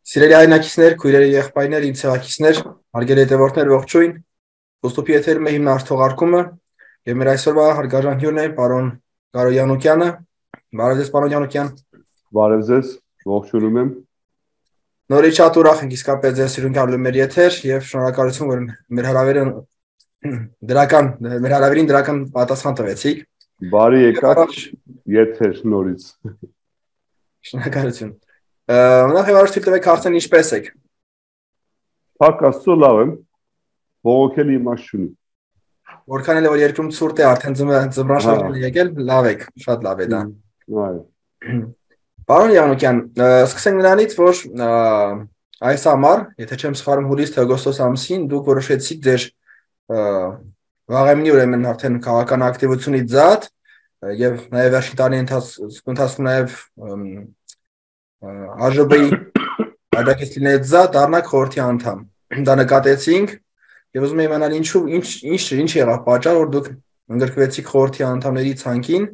Սիրելի հայրենակիցներ, քույրեր եւ եղբայրներ, իմ ցեղակիցներ, հարգելի հետևորդներ, ողջույն։ Ոստոպի եթերում է հիմնարար թողարկումը եւ մեր այսօրվա հարգարժան հյուրն է պարոն Կարո Յանուկյանը։ Բարև ձեզ, պարոն Յանուկյան։ Բարև ձեզ, ողջունում եմ։ Նորից շատ ուրախ ենք իսկապես ձեզ սիրուն գալու մեր եթեր եւ շնորհակալություն, որ մեր հրավերին դրական պատասխան տվեցիք։ Բարի եկաք եթեր նորից։ Շնորհակալություն։ Նախ եւ առաջ թույլ տվեք հարցնել ինչպես եք։ Փակ Աստծո լավ եմ։ Բողոքելի իմաստ չունի։ Որքան էլ որ երկրում ցուրտ է, արդեն ձմռան շրջանը եկել, լավ եք, շատ լավ է դա։ Այո։ Պարոն Յանուկյան, սկսենք նրանից, որ այս ամառ, եթե չեմ սխալվում, հուլիս-օգոստոս ամսին դուք որոշեցիք ձեր վաղեմնի ուրեմն արդեն քաղաքական ակտիվությունից զատ եւ նաեւ վերջին տարի ընթացքում նաեւ ԱԺԲ-ի աջակցությունից զատ դառնաք խորհրդի անդամ։ Դա նկատեցինք եւ ուզում եմ իմանալ ինչ եղավ պատճառը, որ դուք ընդգրկվեցիք խորհրդի անդամների ցանկին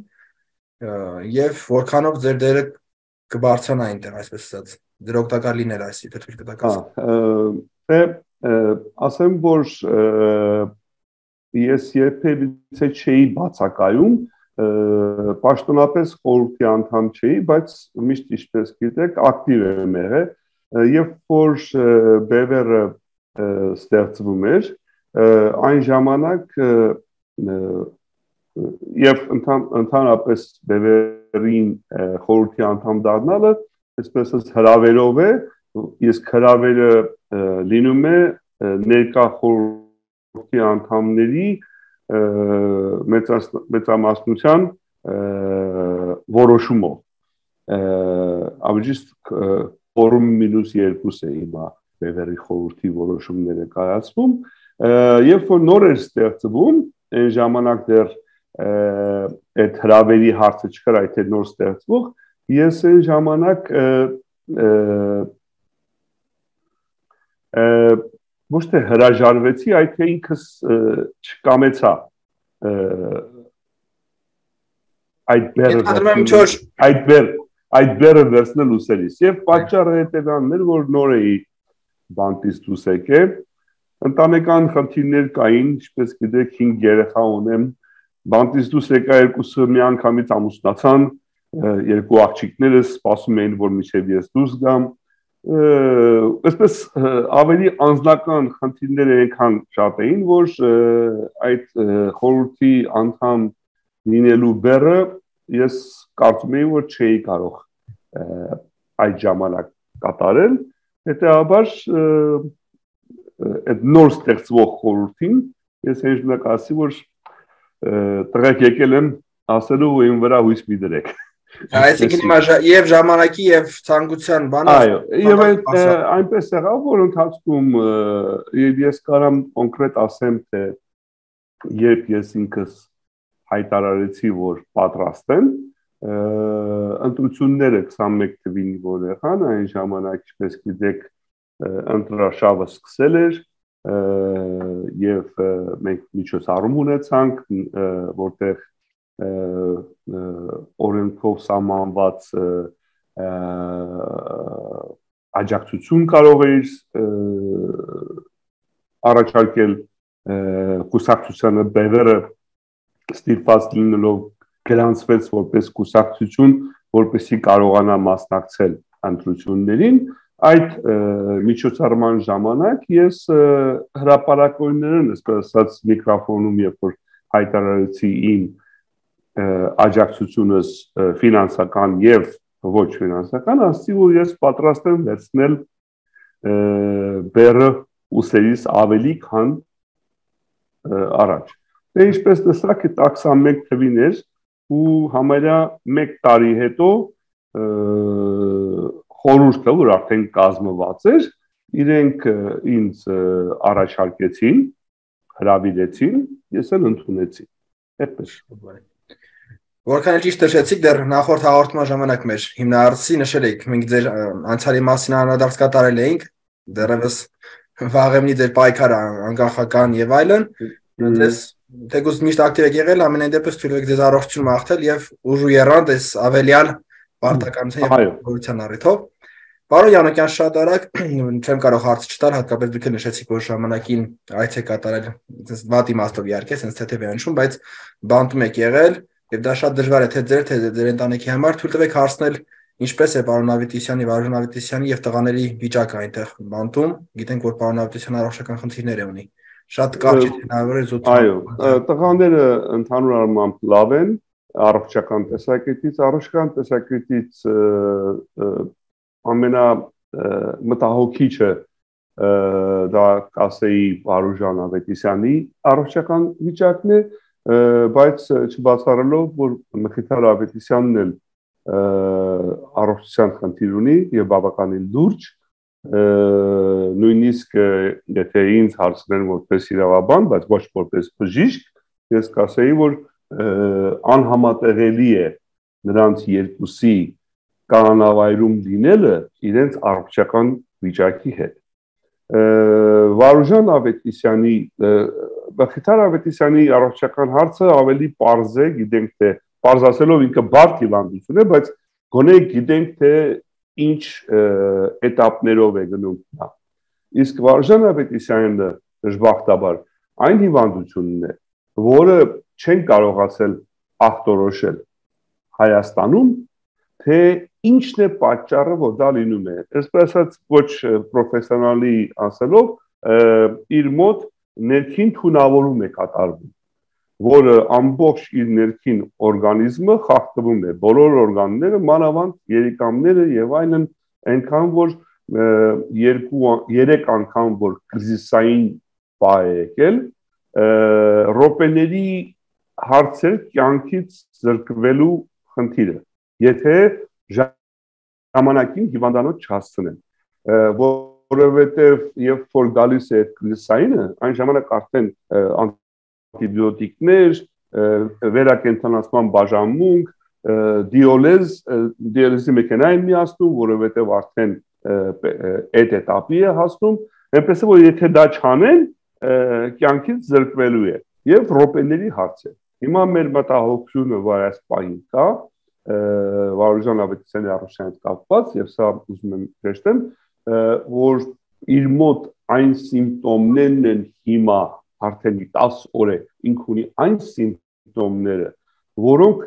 եւ որքանով ձեր դերը կբարձրանա այնտեղ, այսպես ասած, դեր օգտակար լիներ այս եթե թույլ կտաք ասել։ Ասեմ, որ ես երբևիցե չէի բացակայում, պաշտոնապես խորհրդի անդամ չէի, բայց միշտ ինչպես գիտեք, ակտիվ եմ եղել, երբ որ բևեռը ստեղծվում էր, այն ժամանակ եւ ընդհանրապես բևեռին խորհրդի անդամ դառնալը, այսպես ասած հրավերով է, իսկ հրավերը լինում է ներկա խորհրդի անդամների մեծամասնության որոշումով։ Ավելի ֆորում -2 է հիմա բևեռի խորհրդի որոշումները կայացվում, երբ որ նոր էր ստեղծվում, այն ժամանակ դեռ այդ հրավերի հարցը չկար, այդ նոր ստեղծվող, ես այն ժամանակ ոչ թե հրաժարվեցի, այլ թե ինքս չկամեցա այդ բերը վերցնել ուսերից եւ պատճառը հետեւանն էր, որ նոր էի բանտից դուրս եկել, ընտանեկան խնդիրներ կային, ինչպես գիտեք 5 երեխա ունեմ, բանտից դուրս եկա երկուսը միանգամից ամուսնացան, երկու աղջիկներս սպասում էին, որ մինչև ես դուրս գամ, այսպես ավելի անձնական խնդիրները այնքան շատ էին, որ այդ խորհրդի անդամ լինելու բեռը ես կարծում էի, որ չէի կարող այդ ժամանակ կատարել, հետեւաբար այդ նոր ստեղծվող խորհրդին ես այն ժամանակ ասի, որ տղեկ եկել եմ ասելու ու իմ վրա հույս մի դրեք։ Այսինքն հիմա եւ ժամանակի եւ ցանկության բանը։ Այո, եւ այնպես եղավ, որ ընթացքում ես կարամ կոնկրետ ասեմ, թե երբ ես ինքս հայտարարեցի, որ պատրաստ եմ, ընտրությունները 21 թվին որ եղան, այն ժամանակ, ինչպես գիտեք, ընտրաշավը սկսել էր եւ մենք միջոցառում ունեցանք, որտեղ օրենքով սահմանված աջակցություն կարող էր առաջարկել կուսակցությանը բևեռը ստիպված լինելով գրանցվեց որպես կուսակցություն, որպեսզի կարողանա մասնակցել ընտրություններին, այդ միջոցառման ժամանակ ես հրապարակորներն ասած միկրոֆոնում երբ որ հայտարարեցի իմ աջակցությունս ֆինանսական եւ ոչ ֆինանսական, ասացի, որ ես պատրաստ եմ վերցնել բեռը ուսերից ավելի քան առաջ։ Դե ինչպես տեսաք, 21 թվին էր ու համարյա 1 տարի հետո խորհուրդը, որ արդեն կազմված էր, իրենք ինձ առաջարկեցին, հրավիրեցին, ես էլ ընդունեցի։ Այդպես։ Որքան էլ ճիշտ նշեցիք, դեռ նախորդ հաղորդման ժամանակ մեր հիմնարարցի նշել եք, մենք ձեր անցյալի մասին անդրադարձ կատարել էինք, դեռևս վաղեմնի ձեր պայքարը անկախական եւ այլն, դες թեկուզ միշտ ակտիվ եք եղել, ամենայն դեպս թույլ եք ձեզ առողջություն մաղթել եւ ուժու եռանդ այս ավելյալ պարտականության եւ գոյության առիթով։ Պարոն Յանոկյան, շատ արագ չեմ կարող հարց չտալ, հատկապես դուք նշեցիք, որ ժամանակին այց է կատարել, այսպես վատ իմաստով իհարկե, sense թեթև է նշում, բայց բանտում եք եղել, եւ դա շատ դժվար է թե ձեր ընտանիքի համար, թույլ տվեք հարցնել ինչպես է պարոն Ավետիսյանի, Վարուժան Ավետիսյանի եւ տղաների վիճակը այնտեղ բանտում, գիտենք, որ պարոն Ավետիսյանը առողջական խնդիրներ է ունի։ Շատ կարճ է հնարավոր է զուտ։ Այո, տղաները ընդհանուր առմամբ լավ են, առողջական տեսակետից, առողջական տեսակետից ամենա մտահոգիչը դա կասեի Վարուժան Ավետիսյանի առողջական վիճակն է, բայց չբացառելով, որ Մխիթար Ավետիսյանն էլ առողջության խնդիր ունի եւ բավականին լուրջ, նույնիսկ եթե ինձ հարցնեն որպես իրավաբան, բայց ոչ որպես բժիշկ, ես կասեի, որ անհամատեղելի է նրանց երկուսի կանանավայրում լինելը իրենց առողջական վիճակի հետ։ Վարուժան Ավետիսյանի, Մխիթար Ավետիսյանի առողջական հարցը ավելի պարզ է, գիտենք թե պարզացելով ինքը բարդ հիվանդություն է, բայց գոնե գիտենք թե ինչ էտապներով է գնում նա։ Իսկ Վարուժան Ավետիսյանը դժբախտաբար այն հիվանդությունն է, որը չեն կարողացել ախտորոշել Հայաստանում, թե ինչն է պատճառը, որ դա լինում է։ Այսպես ասած, ոչ պրոֆեսիոնալի ասելով, իր մոտ ներքին թունավորում է կատարվում, որը ամբողջ իր ներքին օրգանիզմը խախտվում է, բոլոր օրգանները, մանավանդ երիկամները եւ այլն, այնքան որ 2-3 անգամ որ կրիզիսային բա է եկել, ռոպեների հարցեր կյանքից զրկվելու խնդիրը, եթե ժամանակին հիվանդանոց չհասցնեն, որովհետև երբ որ գալիս է կրիզիսայինը, այն ժամանակ արդեն անտիբիոտիկներ, վերակենդանացման բաժանմունք, դիալիզի մեքենա են միացնում, որովհետև արդեն այդ էտապի է հասնում, այնպես է որ եթե դա չանեն, կյանքից զրկվելու է եւ ռոպեների հարց է։ Հիմա մեր մտահոգությունը որ այս պահին կա, Վարուժան Ավետիսյանի առողջության հետ կապված եւ սա ուզում եմ հեշտեմ, որ իր մոտ այն սիմպտոմներն են հիմա արդեն 10 օր է ինք ունի այն սիմպտոմները, որոնք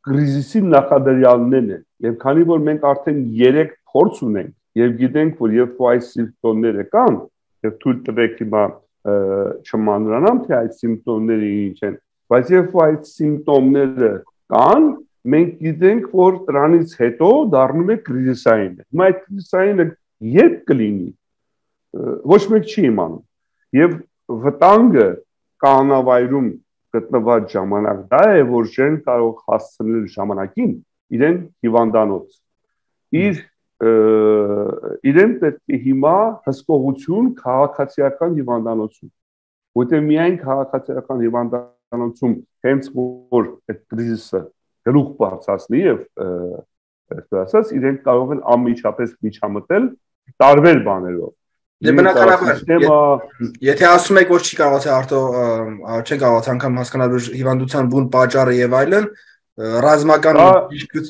կրիզիսի նախադրյալներն են, եւ քանի որ մենք արդեն 3 փորձ ունենք եւ գիտենք, որ երբ այս սիմպտոմները կան, եւ թույլ տվեք հիմա չմանրանամ, թե այդ սիմպտոմները ինչ են, բայց երբ այդ սիմպտոմները կան, մենք գիտենք, որ դրանից հետո դառնում է կրիզիսային։ Հիմա այդ կրիզիսայինը երբ կլինի, ոչ մեկ չի իմանում։ Եվ վտանգը կանանավայրում գտնված ժամանակ դա է, որ չեն կարող հասցնել ժամանակին իրեն հիվանդանոց։ Իրեն պետք է հիմա հսկողություն քաղաքացիական հիվանդանոցում, որտեղ միայն քաղաքացիական հիվանդանոցում հենց որ այդ կրիզիսը գլուխ բարձրացնի եւ այսպես ասած իրենք կարող են անմիջապես միջամտել տարբեր բաներով։ Դե բնականաբար, եթե ասում եք, որ չի կարողացել չեն կարողացել անգամ հասկանալ հիվանդության բուն պատճառը եւ այլն, ռազմական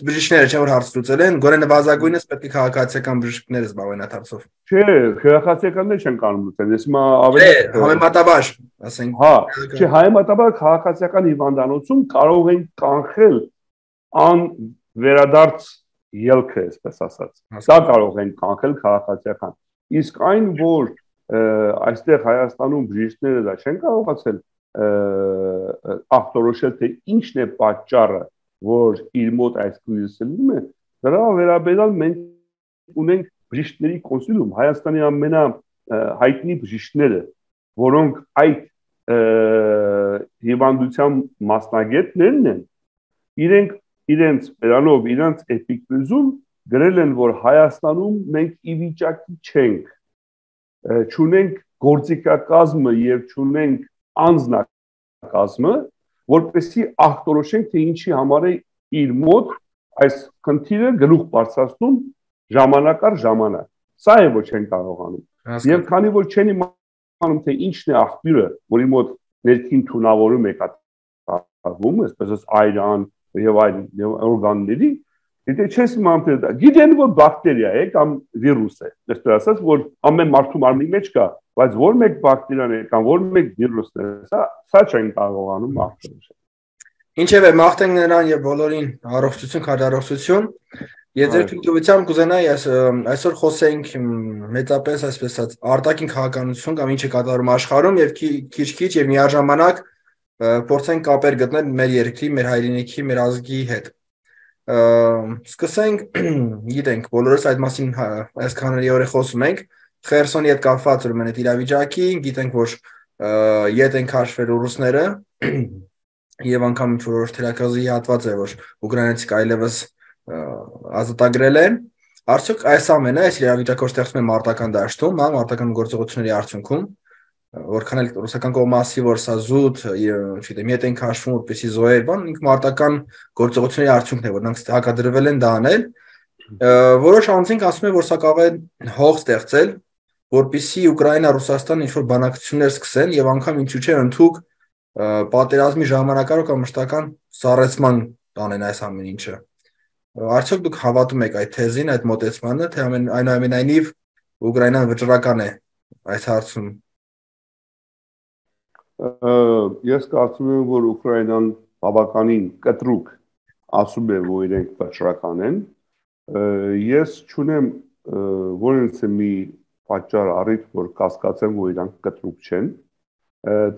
բժիշկները չէ որ հարց լուծել են, գոնե նվազագույնս պետք է քաղաքացիական բժիշկները զբաղվեն այդ հարցով։ Չէ, քաղաքացիականները չեն կարող լուծել։ Ես հիմա ավելի համեմատաբար, ասենք։ Հա, չէ, համեմատաբար քաղաքացիական հիվանդանոցում կարող են կանխել անվերադարձ ելքը, այսպես ասած։ Դա կարող են կանխել քաղաքացիական։ Իսկ այն, որ այստեղ Հայաստանում բժիշկները դա չեն կարողացել ախտորոշել, թե ինչն է պատճառը, որ իր մոտ այս կրիզիսը լինում է, դրա վերաբերյալ մենք ունենք բժիշկների կոնսիլիում, Հայաստանի ամենահայտնի բժիշկները, որոնք այդ հիվանդության մասնագետներն են, իրենց բերանով, իրենց էպիկրիզում գրել են, որ Հայաստանում մենք ի վիճակի չենք, չունենք գործիքակազմը եւ չունենք անձնակազմը, որպեսզի ախտորոշենք, թե ինչի համար է իր մոտ այս խնդիրը գլուխ բարձրացնում ժամանակ առ ժամանակ։ Սա է որ չեն կարողանում։ Եվ քանի որ չեն իմանում, թե ինչն է աղբյուրը, որի մոտ ներքին թունավորում է կատարվում, այսպես այրան եւ այլ օրգանների, Եթե չես իմանում դա, գիտեն որ բակտերիա է կամ վիրուս է, այսպես ասած, որ ամեն մարդու մարմնի մեջ կա, բայց որ մեկ բակտերիան է կամ որ մեկ վիրուսն է, սա չեն կարողանում մաղթել։ Ինչևէ, մաղթենք նրան եւ բոլորին առողջություն, քաջառողջություն։ Ես ձեր թույլտվությամբ կուզենայի այսօր խոսենք մեծապես այսպես ասած արտաքին քաղաքականություն կամ ինչ է կատարվում աշխարհում եւ քիչ-քիչ եւ միաժամանակ փորձենք կապեր գտնել մեր երկրի, մեր հայրենիքի, մեր ազգի հետ։ Սկսենք, գիտենք, բոլորս այդ մասին այսքանների օրը խոսում ենք, Խերսոնի հետ կապված ուրեմն այդ իրավիճակի, գիտենք, որ ետ են քաշվել ռուսները եւ անգամ ինչ-որ թերակղզի հատված է, որ ուկրաինացիք այլևս ազատագրել են, արդյոք այս ամենը այս իրավիճակը ստեղծում է մարտական դաշտում, մարտական գործողությունների արդյունքում, որքան էլ ռուսական կողմը ասի, որ սա զուտ, չգիտեմ, ետ են քաշվում, որպեսզի զոհեր, բան, ինք մարտական գործողությունների արդյունքն է, որ նրանք հակադրվել են դա անել, որոշ անձինք ասում են, որ սա կարող է հող ստեղծել, որպեսզի Ուկրաինա, Ռուսաստան ինչ-որ բանակցություններ սկսեն եւ անգամ ինչու՞ չէ ընդհանուր պատերազմի ժամանակավոր կամ մշտական սառեցման տանեն այս ամեն ինչը։ Արդյոք դուք հավատում եք այդ թեզին, այդ մոտեցմանը, թե այնուամենայնիվ Ուկրաինան վճռական է այս հարցում։ Ես կարծում եմ, որ Ուկրաինան բավականին կտրուկ ասում է, որ իրենք վճռական են։ Ես չունեմ որևէ մի պատճառ առիթ, որ կասկածեմ, որ իրանք կտրուկ չեն։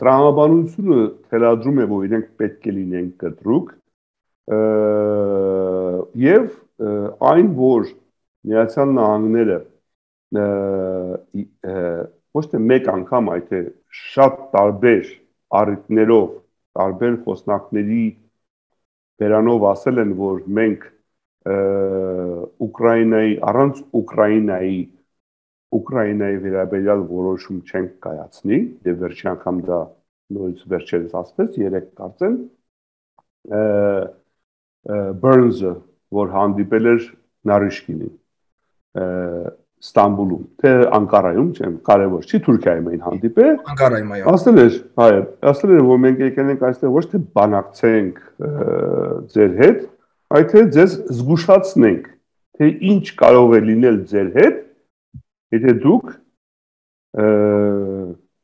Տրամաբանությունը թելադրում է, որ իրենք պետք է լինեն կտրուկ, եւ այն, որ Միացյալ Նահանգները ոչ թե մեկ անգամ, այլ շատ տարբեր առիթներով, տարբեր խոսնակների բերանով ասել են, որ մենք Ուկրաինայի առանց Ուկրաինայի վերաբերյալ որոշում չենք կայացնի, դե վերջի անգամ դա նորից վերջերս ասվեց, 3 կարծեմ, Burns-ը, որ հանդիպել էր Նարիշկինին, Ստամբուլում, թե Անկարայում, չեմ կարևոր չի, Թուրքիայում էին հանդիպել, Անկարայում այո։ Ասել էր, որ մենք եկել ենք այստեղ ոչ թե բանակցենք ձեր հետ, այլ թե ձեզ զգուշացնենք, թե ինչ կարող է լինել ձեր հետ, եթե դուք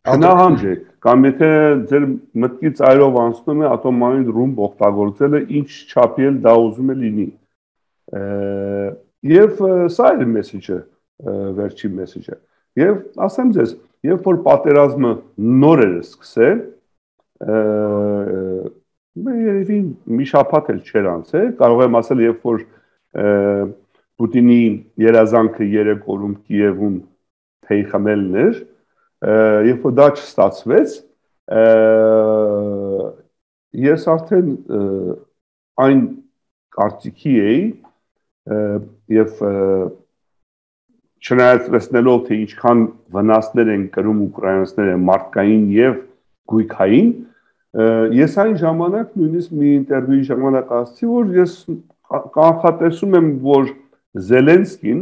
հնահանջեք, կամ եթե ձեր մտքի ծայրով անցնում է ատոմային ռումբ օգտագործելը, ինչ չափի էլ դա ուզում է լինի։ Եվ սա էր մեսեջը, վերջին մեսեջը։ Եվ ասեմ ձեզ, երբ որ պատերազմը նոր էր սկսել, երևի մի շաբաթ էլ չէր անցել, կարող եմ ասել, երբ որ Պուտինի երազանքը 3 օրում Կիևում թեյ խմելն էր, երբ որ դա չստացվեց, ես արդեն այն կարծիքի էի եւ չնայած տեսնելով թե ինչքան վնասներ են կրում ուկրաինացիները մարդկային եւ գույքային, ես այն ժամանակ նույնիսկ մի ինտերվյուի ժամանակ ասացի, որ ես կանխատեսում եմ, որ Զելենսկին,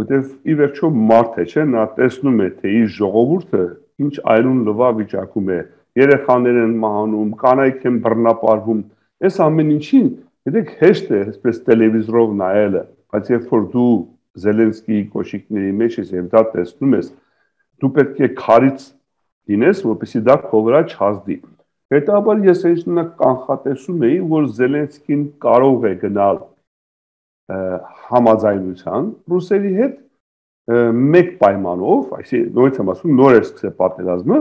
որտեղ ի վերջո մարդ է, չէ, նա տեսնում է, թե իր ժողովուրդը ինչ այլուն լվա վիճակում է, երեխաներ են մահանում, կանայք են բռնապարվում, այս ամեն ինչին, գիտեք, հեշտ է այսպես տելևիզորով նայելը, բայց երբ որ դու Զելենսկիի կոշիկների մեջ ես եւ դա տեսնում ես, դու պետք է քարից լինես, որպեսզի դա քո վրա չհազդի։ Հետաբար ես այնքան կանխատեսում էի, որ Զելենսկին կարող է գնալ համաձայնության ռուսերի հետ մեկ պայմանով, այսինքն նորից եմ ասում, նոր է սկսել պատերազմը,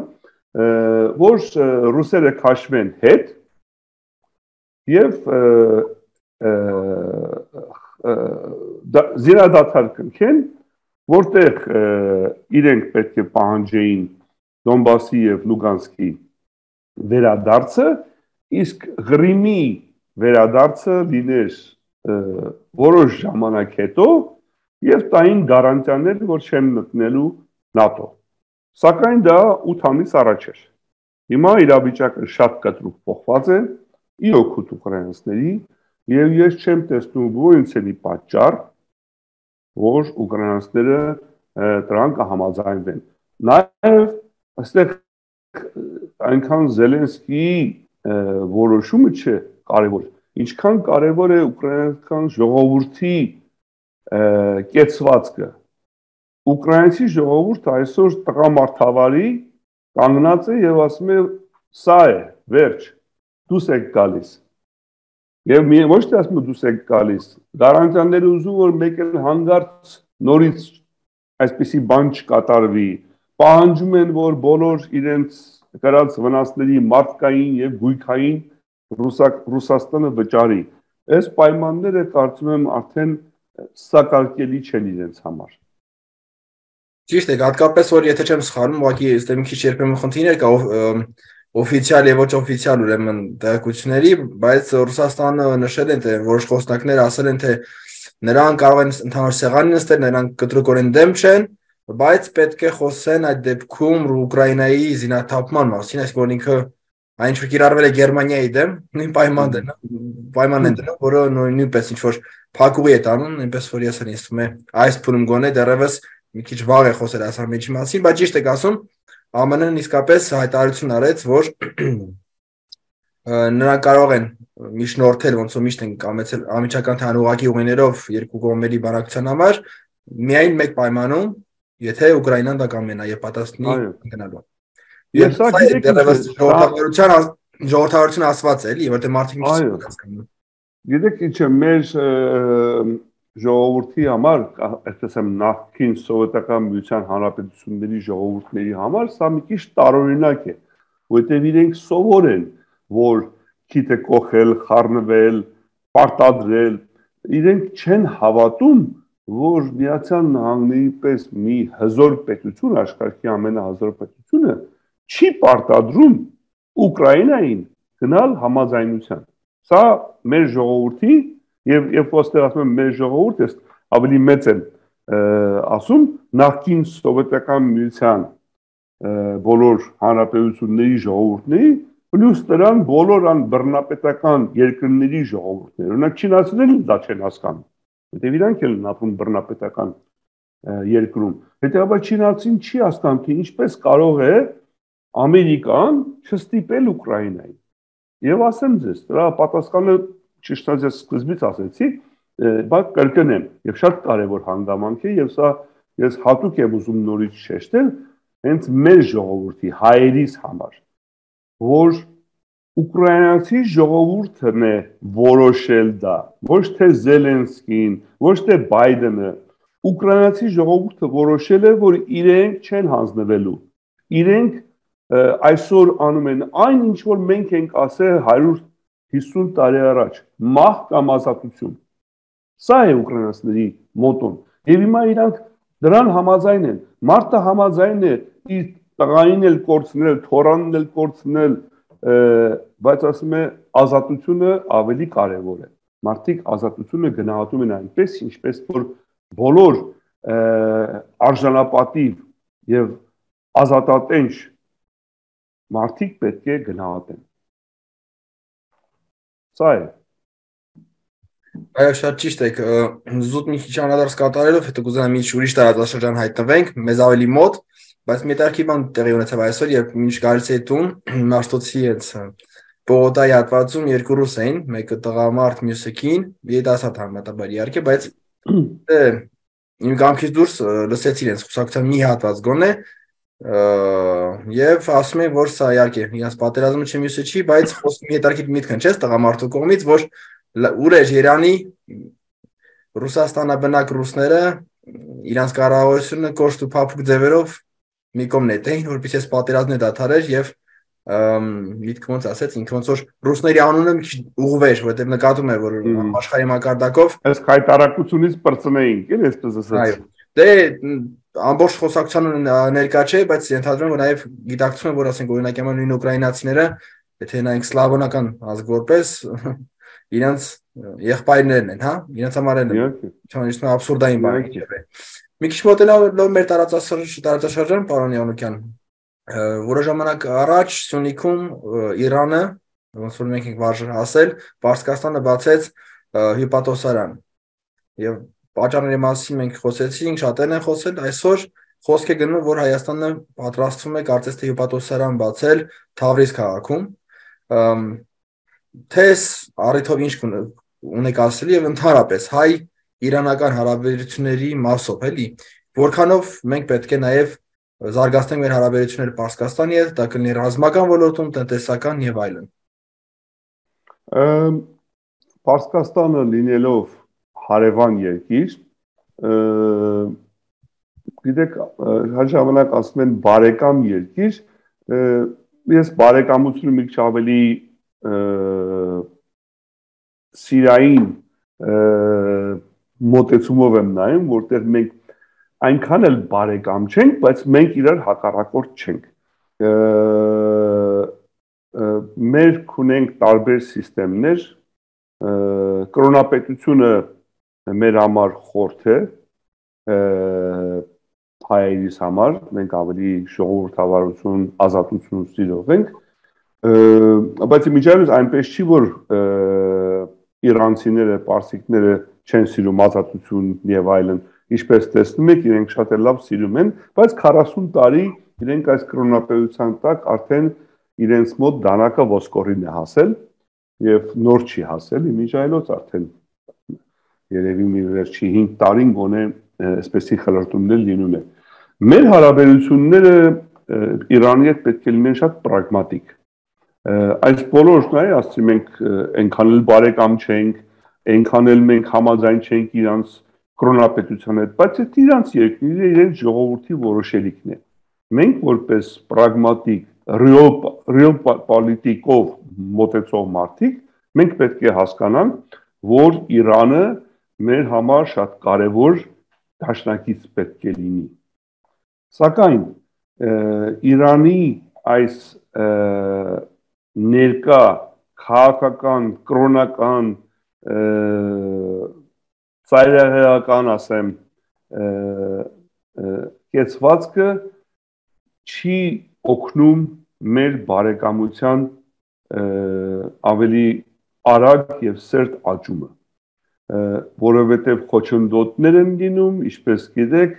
որ ռուսերը քաշվեն հետ եւ զինադադար կնքեն, որտեղ իրենք պետք է պահանջեին Դոնբասի եւ Լուգանսկի վերադարձը, իսկ Ղրիմի վերադարձը լիներ որոշ ժամանակ հետո եւ տային գարանտիաներ, որ չեն մտնելու ՆԱՏՕ։ Սակայն դա 8 ամիս առաջ էր։ Հիմա իրավիճակը շատ կտրուկ փոխված է, ի օգուտ ուկրաինացիների, եւ ես չեմ տեսնում որևէ պատճառ, որ ուկրաինացիները դրան կհամաձայնվեն։ Նաեւ այստեղ այնքան Զելենսկիի որոշումը չէ կարևոր, ինչքան կարևոր է ուկրաինական ժողովրդի կեցվածքը։ Ուկրաինացի ժողովուրդը այսօր տղամարդավարի կանգնած է եւ ասում է սա է, վերջ, դուս եք գալիս։ Եվ ոչ թե ասում դուս եք գալիս, գարանտիաները ուզում որ մեկ էլ հանգարց նորից այսպիսի բան չկատարվի, պահանջում են որ բոլոր իրենց կրած վնասների մարդկային եւ գույքային Ռուսաստանը վճարի։ Այս պայմանները կարծում եմ արդեն սակարկելի չեն իրենց համար։ Ճիշտ է, հատկապես որ եթե չեմ սխալվում, ուղղակի այստեղ մի քիչ երբեմն խնդիրներ կա օֆիցիալ եւ ոչ օֆիցիալ ուրեմն տեղեկությունների, բայց Ռուսաստանը նշել են թե որոշ խոսնակներ ասել են թե նրանք կարող են ընդհանուր սեղանի նստել, նրանք կտրուկորեն դեմ չեն, բայց պետք է խոսեն այդ դեպքում Ուկրաինայի զինաթափման մասին, այսինքն որ ինքը այն ինչ որ կիրառվել է Գերմանիայի դեմ, նույն պայմանն են դնում, որը նույնպես ինչ որ փակուղի է տանում, այնպես որ ես ինձ թվում է այս փուլում գոնե դեռևս մի քիչ վաղ է խոսել այս ամենի մասին, բայց ճիշտ եք ասում, ԱՄՆ-ն իսկապես հայտարարություն արեց, որ նրանք կարող են միջնորդել, ոնց որ միշտ են կամեցել ամիջական թանուղակի ուղիներով երկու կողմերի բանակցության համար, միայն մեկ պայմանում, եթե Ուկրաինան դա կամենա եւ պատասխանի գնալու։ Եվ սա դեռևս ժողովրդավարություն ասված է, էլի, որտեղ մարդիկ միշտ չեն հասկանում։ Գիտեք ինչ է մեր ժողովրդի համար, այսպես եմ նախկին սովետական միության հանրապետությունների ժողովուրդների համար սա մի քիչ տարօրինակ է, որտեղ իրենք սովոր են, որ քիթը կոխել, խառնվել, պարտադրել, իրենք չեն հավատում, որ Միացյալ Նահանգների պես մի հզոր պետություն, աշխարհի ամենահզոր պետությունը չի պարտադրում Ուկրաինային գնալ համաձայնության։ Սա մեր ժողովրդի եւ երբ ոստեղ ասում եմ մեր ժողովուրդ, ես ավելի մեծ եմ ասում նախկին սովետական միության բոլոր հանրապետությունների ժողովուրդների, պլյուս դրան բոլոր բռնապետական երկրների ժողովուրդները։ Օրինակ չինացիներն դա չեն հասկանում, որտեղ իրանք են ապրում բռնապետական երկրում։ Հետեւաբար չինացին չի հասկանում, թե ինչպես կարող է Ամերիկան չստիպել Ուկրաինային։ Եվ ասեմ ձեզ, դրա պատասխանը ճիշտ է սկզբից ասեցի, բայց կրկնեմ, եւ շատ կարեւոր հանգամանք է եւ սա ես հատուկ եմ ուզում նորից շեշտել, հենց մեր ժողովրդի հայերիս համար, որ ուկրաինացի ժողովուրդն է որոշել դա, ոչ թե Զելենսկին, ոչ թե Բայդենը, ուկրաինացի ժողովուրդը որոշել է, որ իրենք չեն հանձնվելու, իրենք այսօր անում են այն ինչ որ մենք ենք ասել 150 տարի առաջ, մահ կամ ազատություն։ Սա է ուկրաինացիների մոտոն։ Եվ հիմա իրանք դրան համաձայն են։ Մարդը համաձայն է իր տղային էլ կորցնել, թորանն էլ կորցնել, բայց ասում է ազատությունը ավելի կարևոր է։ Մարդիկ ազատությունը գնահատում են այնպես, ինչպես որ բոլոր արժանապատիվ եւ ազատատենչ մարդիկ պետք է գնահատեն։ Սա է։ Այո, շատ ճիշտ եք։ Զուտ մի քիչ անդրադարձ կատարելով, հետո կուզենամ մի ուրիշ տարածաշրջան հայտնվենք, մեզ ավելի մոտ, բայց մի տարքի բան տեղի ունեցավ այսօր, երբ մինչ գալիս էի տուն, Մաշտոցի հետ Բողոկտայի հատվածում երկու ռուս էին, մեկը տղամարդ, մյուսը կին, երիտասարդ համեմատաբար իհարկե, բայց իմ կամքից դուրս լսեցի իրենց խոսակցության մի հատված գոնե, եւ ասում են, որ սա իհարկե իրենց պատերազմը չի, մյուսը չի, բայց խոսքի հետարքիտ միտք հնչեց տղամարդու կողմից, որ ուր էր Երանի Ռուսաստանաբնակ ռուսները իրանց կառավարությունը կոշտ ու փափուկ ձևերով մի կողմ նետեին, որպեսզի այս պատերազմը դադարեր եւ միտքը ոնց ասեց, ինքը ոնց որ ռուսների անունը մի քիչ ուղղվեր, որտեղ նկատում էր, որ աշխարհի մակարդակով այս հայտարարությունից բրծնեինք, էլ այսպես ասած։ Այո։ Դե ամբողջ խոսակցությանը ներկա չէ, բայց ենթադրում եմ, որ նաև գիտակցում եմ, որ ասենք օրինակ նույն ուկրաինացիները, եթե նայենք սլավոնական ազգ որպես իրենց եղբայրներն են, հա, իրենց համար են, չանիշն աբսուրդային բան է։ Մի քիչ մոտենալով մեր տարածաշրջան, պարոն Յանուկյան, որոշ ժամանակ առաջ Սյունիքում Իրանը, ոնց որ մենք ենք վարժ ասել, Պարսկաստանը բացեց հյուպատոսարան։ Եւ պատճառների մասին մենք խոսեցինք, շատերն են խոսել, այսօր խոսք է գնում, որ Հայաստանը պատրաստվում է կարծես թե հյուպատոսարան բացել Թավրիզ քաղաքում։ Թես առիթով ինչ ունեք ասել եւ ընդհանրապես հայ-իրանական հարաբերությունների մասով, էլի, որքանով մենք պետք է նաեւ զարգացնենք մեր հարաբերությունները Պարսկաստանի հետ, դա կլինի ռազմական ոլորտում, տնտեսական եւ այլն։ Պարսկաստանը լինելով հարևան երկիր, գիտեք, հաջողանակ ասում են բարեկամ երկիր, ես բարեկամությունը մի քիչ ավելի սիրային մոտեցումով եմ նայում, որտեղ մենք այնքան էլ բարեկամ չենք, բայց մենք իրար հակառակորդ չենք։ Մեր ունենք տարբեր սիստեմներ, կրոնապետությունը մեր համար խորթ է, հայերիս համար, մենք ավելի ժողովրդավարություն, ազատություն սիրող ենք, բայց միջայլոց այնպես չի, որ իրանցիները, պարսիկները չեն սիրում ազատություն եւ այլն, ինչպես տեսնում եք, իրենք շատ լավ սիրում են, բայց 40 տարի իրենք այս կրոնապետության տակ արդեն իրենց մոտ դանակը ոսկորին է հասել եւ նոր չի հասել, միջայլոց արդեն երևի մի վերջի 5 տարին գոնե այսպեսի խլրտումներ լինում է։ Մեր հարաբերությունները Իրանի հետ պետք է լինեն շատ պրագմատիկ։ Այս բոլորն է, ասում մենք այնքան էլ բարեկամ չենք, այնքան էլ մենք համաձայն չենք իրանց կրոնապետության հետ, բայց այդ իրանց երկրի իրենց ժողովրդի որոշելիքն է։ Մենք որպես պրագմատիկ, real պոլիտիկով մոտեցող մարդիկ, մենք պետք է հասկանանք, որ Իրանը մեր համար շատ կարևոր դաշնակից պետք է լինի։ Սակայն Իրանի այս ներկա քաղաքական, կրոնական, ծայրահեղական, ասեմ, կեցվածքը չի օգնում մեր բարեկամության ավելի արագ եւ սերտ աճումը, որովհետեւ խոչընդոտներ են լինում, ինչպես գիտեք,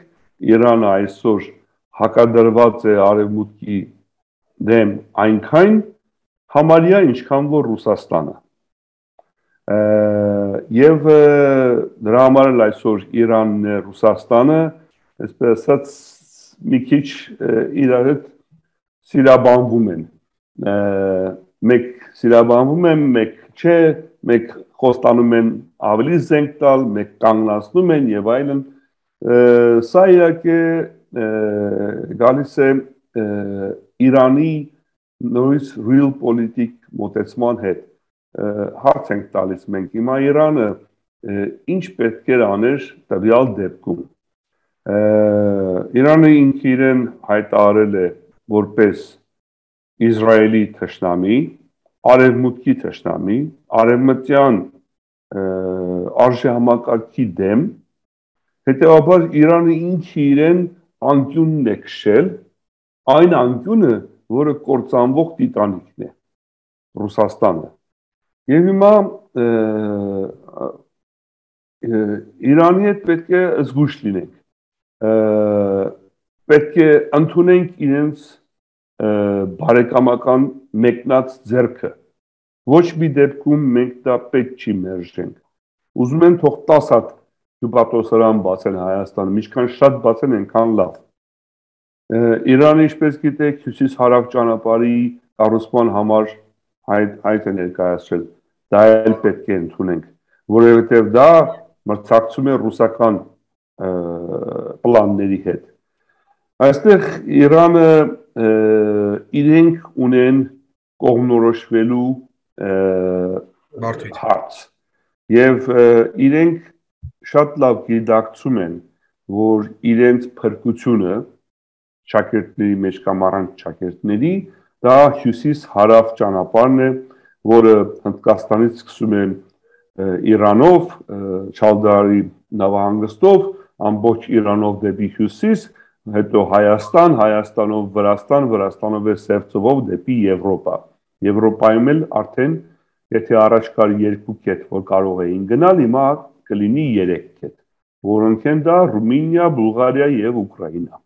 Իրանը այսօր հակադրված է արևմուտքի դեմ այնքան համարյա ինչքան որ Ռուսաստանը։ Եվ դրա համար էլ այսօր Իրանն է Ռուսաստանը, այսպես ասած, մի քիչ իրար հետ սիրաբանվում են։ Մեկ սիրաբանվում են, մեկ չէ, մեկ խոստանում են ավելի զենք տալ, մեկ կանգնացնում են եւ այլն։ Սա իհարկե գալիս է Իրանի նույնիսկ real politic մոտեցման հետ։ Հարց ենք տալիս մենք հիմա Իրանը ինչ պետք է աներ տվյալ դեպքում։ Իրանը ինքը իրեն հայտարարել է որպես Իսրայելի թշնամի, արևմուտքի թշնամի, արևմտյան արժեհամակարգի դեմ, հետևաբար Իրանը ինքը իրեն անկյունն է քշել, այն անկյունը, որը կործանվող տիտանիկն է, Ռուսաստանը։ Եվ հիմա Իրանի հետ պետք է զգույշ լինենք, պետք է ընդունենք իրենց բարեկամական մեկնած ձեռքը, ոչ մի դեպքում մենք դա պետք չի մերժենք, ուզում են թող 10 հատ հյուպատոսարան բացեն Հայաստանում, ինչքան շատ բացեն, այնքան լավ։ Իրանը, ինչպես գիտեք, հյուսիս-հարավ ճանապարհի կառուցման համար հայտ է ներկայացրել, դա էլ պետք է ընդունենք, որովհետև դա մրցակցում է ռուսական պլանների հետ։ Այստեղ Իրանը իրենք ունեն կողմնորոշվելու հարց եւ իրենք շատ լավ գիտակցում են, որ իրենց փրկությունը շակերտների մեջ կամ առանց շակերտների դա հյուսիս-հարավ ճանապարհն է, որը Հնդկաստանից սկսում է Իրանով, Չալդարի նավահանգստով, ամբողջ Իրանով դեպի հյուսիս, հետո Հայաստան, Հայաստանով Վրաստան, Վրաստանով է Սև ծովով դեպի Եվրոպա։ Եվրոպայում էլ արդեն, եթե առաջ կար 2 կետ, որ կարող էին գնալ, հիմա կլինի 3 կետ, որոնք են դա Ռումինիա, Բուլղարիա եւ Ուկրաինա։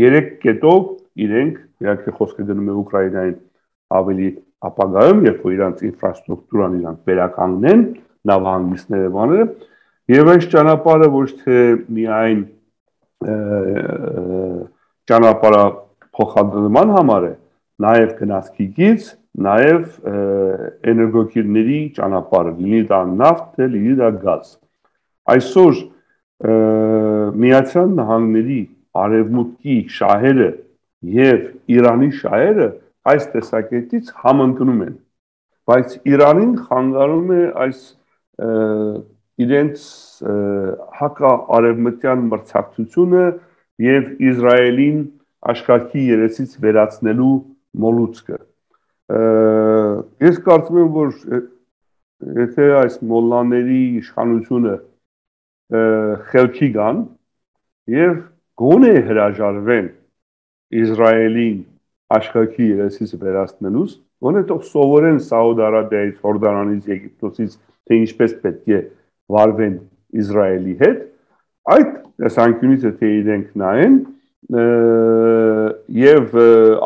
3 կետով իրենք, իհարկե խոսքը գնում է Ուկրաինային ավելի ապագայում, երբ որ իրանց ինֆրաստրուկտուրան իրանք վերականգնեն, նավահանգիստները բաները, եւ այս ճանապարհը ոչ թե միայն ճանապարհը փոխադրման համար է, նաեւ գնացքից, նաեւ էներգոկիրների ճանապարհը, լինի դա նավթ, լինի դա գազ։ Այսօր Միացյալ Նահանգների արևմուտքի շահերը եւ Իրանի շահերը այս տեսակետից համընկնում են, բայց Իրանին խանգարում է այս իրենց հակաարևմտյան մրցակցությունը եւ Իսրայելին աշխարհի երեսից վերացնելու մոլուցքը։ Ես կարծում եմ, որ եթե այս մոլլաների իշխանությունը խելքի գան եւ գոնե հրաժարվեն Իսրայելին աշխարհի երեսից վերացնելուց, գոնե թող սովորեն Սաուդ Արաբիայից, Հորդանանից, Եգիպտոսից, թե ինչպես պետք է վարվեն Իսրայելի հետ, այդ տեսանկյունից եթե իրենք նայեն եւ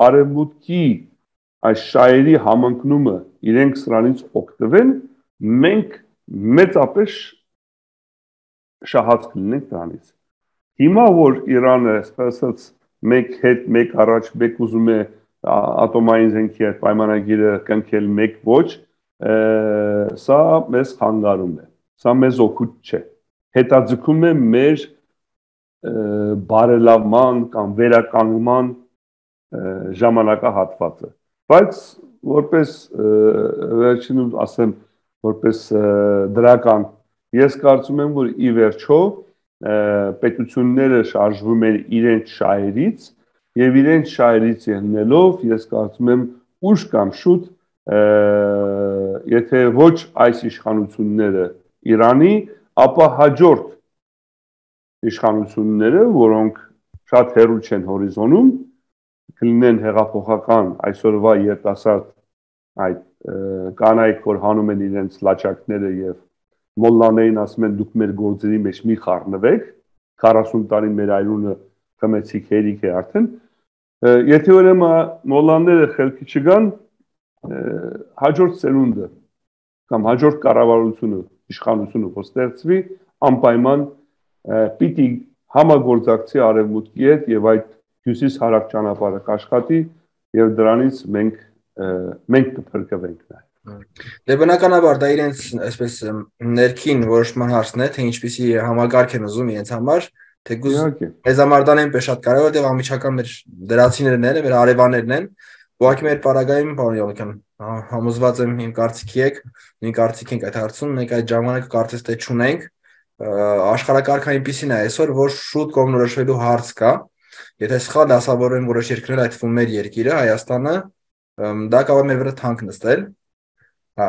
արևմուտքի այս շահերի համընկնումը իրենք սրանից օգտվեն, մենք մեծապես շահած կլինենք դրանից։ Հիմա որ Իրանը ասած մեկ հետ, մեկ առաջ, մեկ ուզում է ատոմային զենքի այդ պայմանագիրը կնքել, մեկ ոչ, սա մեզ խանգարում է, սա մեզ օգուտ չէ, հետաձգում է մեր բարելավման կամ վերականգնման ժամանակահատվածը, բայց որպես վերջինում ասեմ, որպես դրական, ես կարծում եմ, որ ի վերջո պետությունները շարժվում են իրենց շահերից եւ իրենց շահերից ելնելով ես կարծում եմ ուշ կամ շուտ եթե ոչ այս իշխանությունները Իրանի, ապա հաջորդ իշխանությունները, որոնք շատ հեռու չեն հորիզոնում, կլինեն հեղափոխական այսօրվա երիտասարդ այդ կանայք, որ հանում են իրենց լաչակները եւ մոլլաներին ասում են դուք մեր գործերի մեջ մի խառնվեք, 40 տարի մեր այրունը խմեցիք հերիք է արդեն, եթե ուրեմն մոլլաները խելքի չգան, հաջորդ սերունդը կամ հաջորդ կառավարությունը, իշխանությունը որ ստեղծվի, անպայման պիտի համագործակցի արևմուտքի հետ եւ այդ հյուսիս-հարավ ճանապարհը կաշխատի եւ դրանից մենք կփրկվենք նաեւ։ Դե բնականաբար դա իրենց այսպես ներքին որոշման հարցն է, թե ինչպիսի համագարկ են ուզում իրենց համար, թեկուզ մեզ համար դա այնպես շատ կարևոր է, անմիջական մեր դրացիներն են, մեր արևաներն են, ուղղակի մեր պարագայում, պարոն Յոլիկյան, համոզված եմ իմ կարծիքի եք, նույն կարծիք ենք այդ հարցում, մենք այդ ժամանակը կարծես թե չունենք, աշխարհակարգը այնպիսին է այսօր, որ շուտ կողմնորոշվելու հարց կա, եթե սխալ դասավորեն որոշ երկրներ, այդ թվում մեր երկիրը, Հայաստանը, դա կարող է մեր վրա թանկ նստել։ Հա,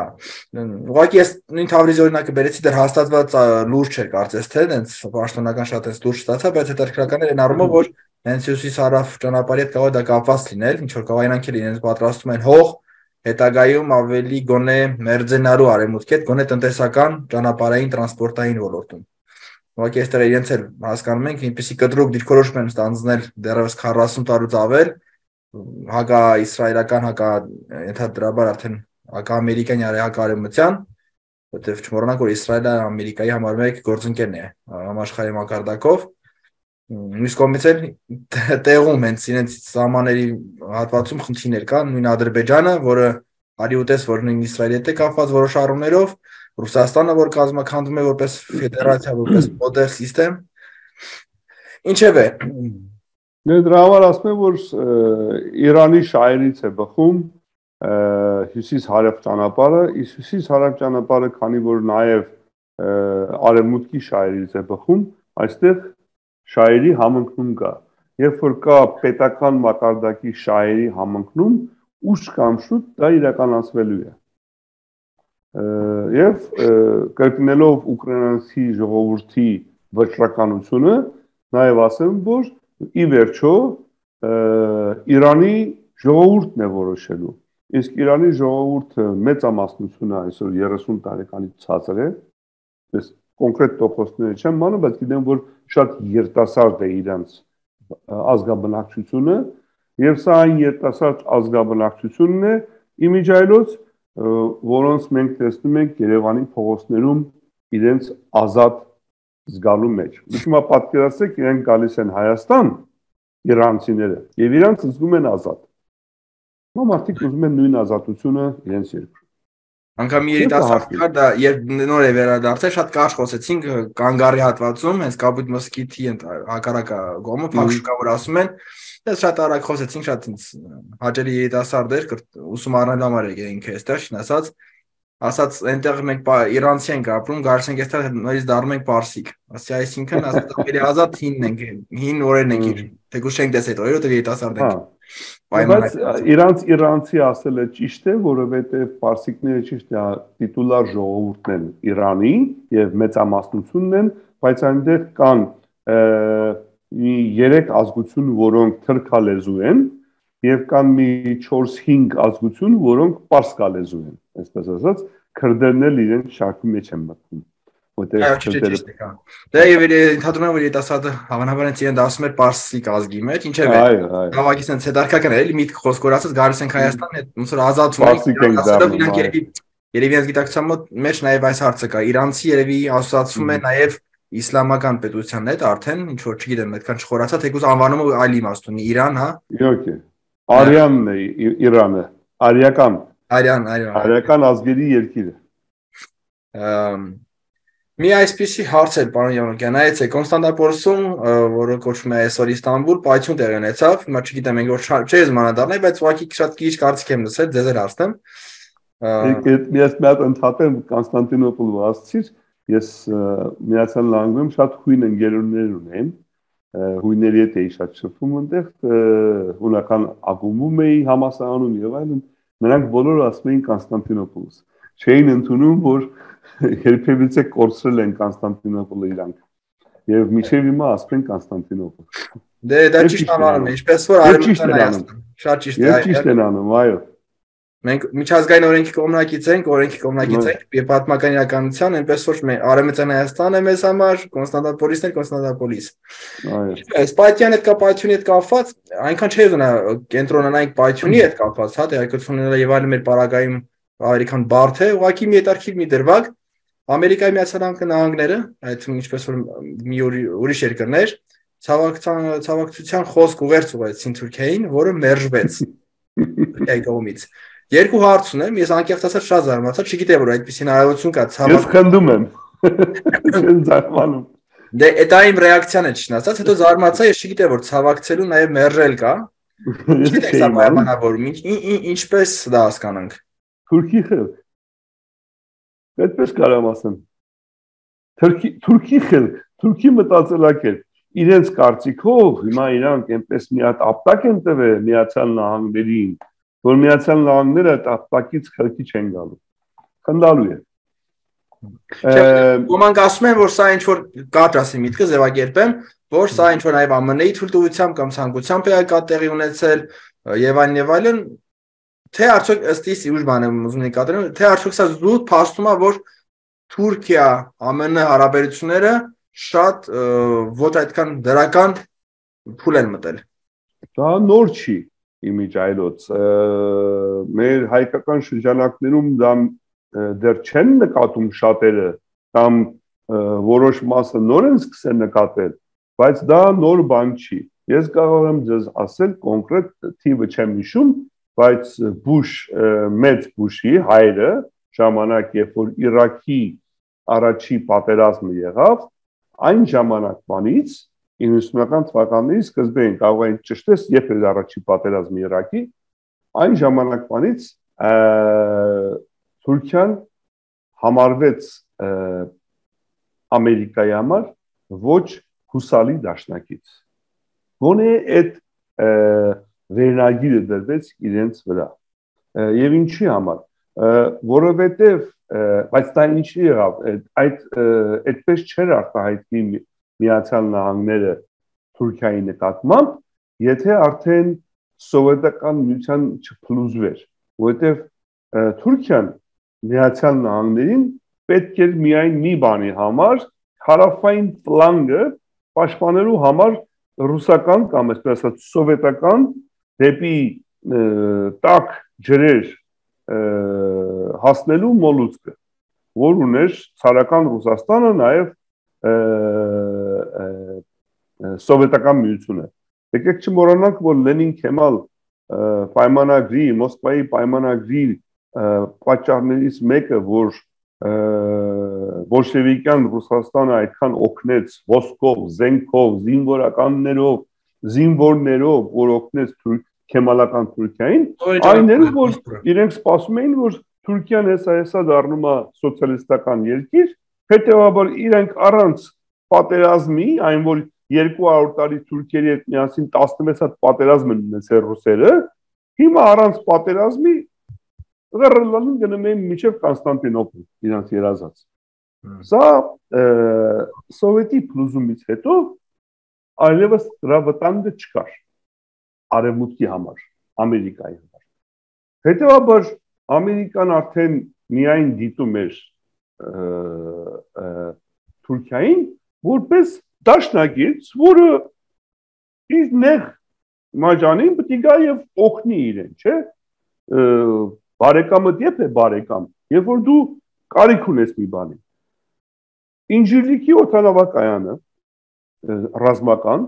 ուղղակի ես նույն Թավրիզի օրինակը բերեցի, դեռ հաստատված լուրջ չէր կարծես թե, հենց պաշտոնական շատ էս լուրջ ստացա, բայց հետաքրքրական էր այն առումով, որ հենց հյուսիս-հարավ ճանապարհի հետ կարող է դա կապված լինել, ինչ որ կարող իրանք էլ իրենց պատրաստում են հող, հետագայում ավելի գոնե մերձենարու արևմուտքի հետ, գոնե տնտեսական, ճանապարհային, տրանսպորտային ոլորտում։ Ուղղակի այստեղ իրենց էլ հասկանում ենք, ինչպեսի կտրուկ դիրքորոշում են ստանձնել դեռևս 40 տարուց ավել, հակա-իսրայելական, հակա-ենթադրաբար արդեն հակա-ամերիկյան հակա-արևմտյան, որտեղ չմոռանանք, որ Իսրայելը Ամերիկայի համար մեկ գործընկերն է համաշխարհի մակարդակով, մյուս կողմից էլ տեղում հենց իրենց սահմանների հատվածում խնդիրներ կան, նույն Ադրբեջանը, որը արի ուտես, որ նույն Իսրայելի հետ է կապված որոշ առումներով, Ռուսաստանը, որ կազմաքանդվում է որպես ֆեդերացիա, որպես մոդել սիստեմ, ինչևէ։ Դրա համար ասում եմ, որ Իրանի շահերից է բխում հյուսիս-հարավ ճանապարհը, իսկ հյուսիս-հարավ ճանապարհը, քանի որ նաև արևմուտքի շահերից է բխում, այստեղ շահերի համընկնում կա։ Երբ որ կա պետական մակարդակի շահերի համընկնում, ուշ կամ շուտ դա իրականացվելու է։ Եվ կրկնելով ուկրաինացի ժողովրդի վճռականությունը, նաև ասեմ, որ ի վերջո Իրանի ժողովուրդն է որոշելու։ Իսկ Իրանի ժողովուրդը մեծամասնությունը այսօր 30 տարեկանից ցածր է, ես կոնկրետ տոկոսները չեմ անում, բայց գիտեմ, որ շատ երիտասարդ է իրանց ազգաբնակչությունը, եւ սա այն երիտասարդ ազգաբնակչությունն է, իմիջայլոց, որոնց մենք տեսնում ենք Երևանի փողոցներում իրենց ազատ զգալու մեջ։ Ուրեմն պատկերացրեք, իրենք գալիս են Հայաստան, իրանցիները, եւ իրանք զգում են ազատ։ Մարդիկ ուզում են նույն ազատությունը իրենց երկրում։ Անկամ երիտասարդը դա երբ նոր է վերադարձել, շատ կարճ խոսեցինք Կանգարի հատվածում, հենց Կապույտ մսկիթի հակառակը գոմը փակշուկա, որ ասում են, դες շատ արագ խոսեցինք, շատ հաճելի երիտասարդեր, ուսում առնել համար եկենք այստեղ, ասած այնտեղ մենք իրանցի ենք ապրում, գալիս ենք այստեղ նորից դառնում ենք պարսիկ։ Այսինքն ասած ավելի ազատ հինն ենք, հին օրերն ենք, թեկուզ չենք տեսել այդ օրերը, երիտասարդ ենք։ Բայց իրանցի ասելը ճիշտ է, որովհետև պարսիկները ճիշտ է տիտուլար ժողովուրդն են Իրանի եւ մեծամասնությունն են, բայց այնտեղ կան 3 ազգություն, որոնք թրքալեզու են, եւ կան մի 4-5 ազգություն, որոնք պարսկալեզու են, այսպես ասած, քրդերն էլ իրենց շարքի մեջ են մտնում։ Դա եւ ընդհանրում է որ երիտասարդը հավանաբար իրեն դասում էր պարսիկ ազգի մեջ, ինչեւ է։ Հավաքից են ցեդարկական է, էլի միտք խոսքոր ասած գալիս ենք Հայաստան, ոնց որ ազատվում ենք, երևի այս գիտակցության մեջ նաեւ այս հարցը կա։ Իրանցի երևի ասոցացվում է նաեւ իսլամական պետությանն հետ արդեն, ինչ որ չգիտեմ, այդքան չխորացա, թեկուզ անվանումը այլ իմաստ ունի, Իրան, հա։ Իհարկե։ Արյանն է Իրանը, արյան ազգերի երկիրը։ Մի այսպիսի հարց էր, պարոն Յովաննիկյան, նայեցեք, Կոնստանտինոպոլսում, որը կոչվում է այսօր Իստանբուլ, պայթյուն տեղի ունեցավ, հիմա չգիտեմ, մենք որ չէ զմանադառնալ, բայց ուղղակի շատ քիչ կարծիք եմ լսել, ձեզ էլ հարցնեմ։ Ես մի հատ ընդհատեմ Կոնստանտինոպոլ ասացիր, ես Միացյալ Նահանգներում շատ հույն ընկերներ ունեմ, հույների հետ էի շատ շփվում այնտեղ, հունական ակումբում էի համասարանում եւ այլն, նրանք բոլորը ասում էին Կոնստանտինոպոլ։ Չէին ընդունում, որ երբևիցե կորցրել են Կոնստանտինոպոլը իրանք եւ միջև հիմա ասում են Կոնստանտինոպոլ։ Դե դա ճիշտ անվանում է, ինչպես որ արևմտյան Հայաստան։ Շատ ճիշտ է։ Ճիշտ են անում, այո։ Մենք միջազգային օրենքի կողմնակից ենք, եւ պատմական իրականության, այնպես որ արևմտյան Հայաստանը մեզ համար Կոնստանտինոպոլիսն է, Կոնստանտինոպոլիս։ Այո։ Այս պայթյանի հետ պայթյունի հետ կապված, այնքան չէ ուզենա կենտրոնանանք պայթյունի հետ կապված, հա, տեղեկությունները եւ այլն մեր պարագայում ավելի քան բարդ է, ուղղակի մի հետարքիր մի դրվագ Ամերիկայի Միացյալ Նահանգները, այդ ինչպես որ մի ուրիշ երկրներ, ցավակցության խոսք ուղերձեցին Թուրքիային, որը մերժվեց Թուրքիայի կողմից։ Երկու հարց ունեմ, ես անկեղծ ասած շատ զարմացա, չգիտեմ որ այդպեսի հնարավորություն կա ցավակ։ Ես խնդում եմ։ Չեմ զարմանում։ Դե դա իմ ռեակցիան է չնայած, հետո զարմացա, ես չգիտեմ որ ցավակցելու նաև մերժել կա։ Չգիտեմ սա պայմանավորում, ինչպես դա հասկանանք։ Թուրքի խելք։ Այդպես կարամ ասեմ։ Թուրքի խելք, Թուրքի մտածելակերպ, իրենց կարծիքով հիմա իրանք այնպես մի հատ ապտակ են տվել Միացյալ Նահանգներին, որ Միացյալ Նահանգները այդ ապտակից խելքի չեն գալու։ Խնդալու է։ Ոմանք ասում են, որ սա ինչ որ կարճ ասի միտքը ձևակերպեմ, որ սա ինչ որ նաև ԱՄՆ-ի թույլտվությամբ կամ ցանկությամբ է կա տեղի ունեցել եւ այլն, թե արդյոք ըստ իս ուժ բան եմ ուզում նկատել, թե արդյոք սա զուտ փաստում է, որ Թուրքիա-ԱՄՆ հարաբերությունները շատ ոչ այդքան դրական փուլ են մտել։ Դա նոր չի իմիջայլոց։ Մեր հայկական շրջանակներում դա դեռ չեն նկատում շատերը, կամ որոշ մասը նոր են սկսել նկատել, բայց դա նոր բան չի։ Ես կարող եմ ձեզ ասել կոնկրետ թիվը չեմ հիշում, բայց մեծ Բուշի հայրը ժամանակ, երբ որ Իրաքի առաջի պատերազմը եղավ, այն ժամանակվանից 90-ական թվականների սկզբին կարող են ճշտես, երբ էր առաջի պատերազմը Իրաքի, այն ժամանակվանից Թուրքիան համարվեց Ամերիկայի համար ոչ հուսալի դաշնակից։ Գոնե այդ վերնագիրը դրվեց իրենց վրա։ Եվ ինչի համար, որովհետև, բայց դա ինչի եղավ, այդպես չէր արտահայտվի Միացյալ Նահանգները Թուրքիայի նկատմամբ, եթե արդեն սովետական միության չփլուզվեր, որովհետև Թուրքիան Միացյալ Նահանգներին պետք էր միայն մի բանի համար, հարավային ֆլանգը պաշտպանելու համար ռուսական կամ այսպես ասած սովետական դեպի տաք ջրեր հասնելու մոլուցքը, որ ուներ ցարական Ռուսաստանը, նաև սովետական միությունը։ Եկեք չմոռանանք, որ Լենին-Քեմալ պայմանագրի, Մոսկվայի պայմանագրի պատճառներից մեկը, որ բոլշևիկյան Ռուսաստանը այդքան օգնեց ոսկով, զենքով, զինվորականներով, զինվորներով, որ օգնեց քեմալական Թուրքիային, այն էր, որ իրենք սպասում էին, որ Թուրքիան հեսա դառնում է սոցիալիստական երկիր, հետևաբար իրենք առանց պատերազմի, այն որ 200 տարի Թուրքիերի հետ միասին 16 հատ պատերազմ են ունեցել ռուսերը, հիմա առանց պատերազմի Ղռլալին գնում էին մինչև Կոնստանտինոպոլ, իրանց երազած։ Սա սովետի փլուզումից հետո այլևս դրա վտանգը չկար արևմուտքի համար, Ամերիկայի համար։ Հետևաբար Ամերիկան արդեն միայն դիտում էր Թուրքիային որպես դաշնակից, որը իր նեղ մաջանին պետք է գա եւ օգնի իրեն, չէ՞։ Բարեկամը դեպ է բարեկամ, երբ որ դու կարիք ունես մի բանի։ Ինժիրլիկի օդանավակայանը ռազմական,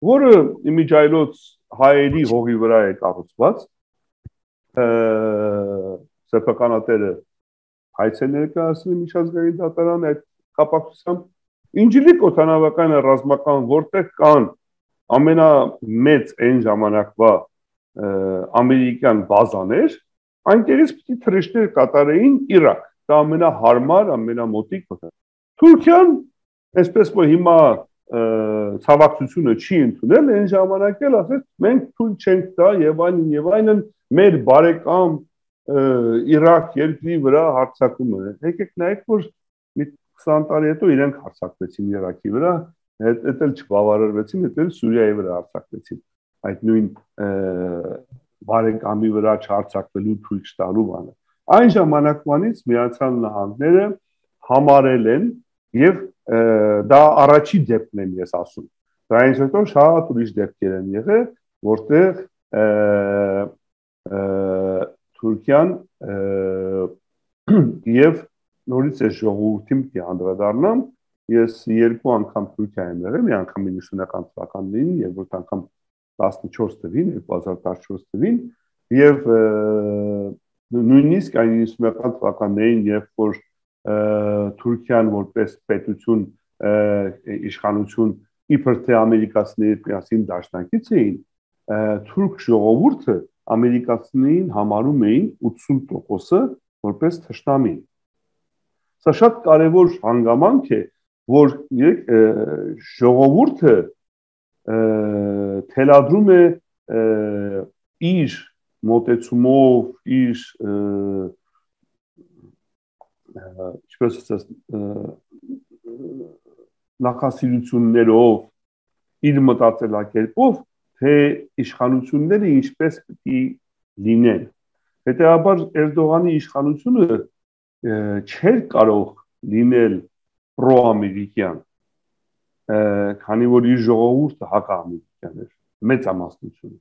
որը իմիջայլոց հայերի հողի վրա է կառուցված, սեփականատերը հայց է ներկայացնում միջազգային դատարան այդ կապակցությամբ Ինժիրլիկ օդանավակայանը ռազմական, որտեղ կան ամենամեծ այն ժամանակվա ամերիկյան բազաներ, այնտեղից պիտի թռիչքներ կատարեին Իրաք, դա ամենահարմար, ամենամոտիկ։ Թուրքիան, այսպես որ հիմա ցավակցությունը չի ընդունել, այն ժամանակ էլ ասեց, մենք թույլ չենք տա եւ այլն, մեր բարեկամ Իրաք երկրի վրա հարձակումը։ Եկեք նայեք, որ 20 տարի հետո իրենք հարձակվեցին Իրաքի վրա, հետ էլ չբավարարվեցին, հետ էլ Սուրիայի վրա հարձակվեցին։ Այդ նույն բարեկամի վրա չհարձակվելու թույլ չտալու բանը։ Այն ժամանակվանից Միացյալ Նահանգները համարել են եւ դա առաջի դեպքն եմ ես ասում։ Դրանից հետո շատ ուրիշ դեպքեր են եղել, որտեղ Թուրքիան եւ նորից է ժողովրդին պիտի անդրադառնամ, ես երկու անգամ Թուրքիա եմ եղել, մի անգամ 90-ական թվականներին, երկրորդ անգամ 14 թվին, 2014 թվին, եւ նույնիսկ այն 90-ական թվականներին, երբ որ Թուրքիան որպես պետություն, իշխանություն իբր թե ամերիկացիների միասին դաշնակից էին, թուրք ժողովուրդը ամերիկացիներին համարում էին 80%-ը որպես թշնամի։ Սա շատ կարևոր հանգամանք է, որ ժողովուրդը թելադրում է իր մոտեցումով, իր ինչպես ասած նախասիրություններով, իր մտածելակերպով, թե իշխանությունները ինչպես պիտի լինեն։ Հետևաբար Էրդողանի իշխանությունը չէր կարող լինել պրոամերիկյան, քանի որ իր ժողովուրդը հակաամերիկյան էր, մեծամասնությունը։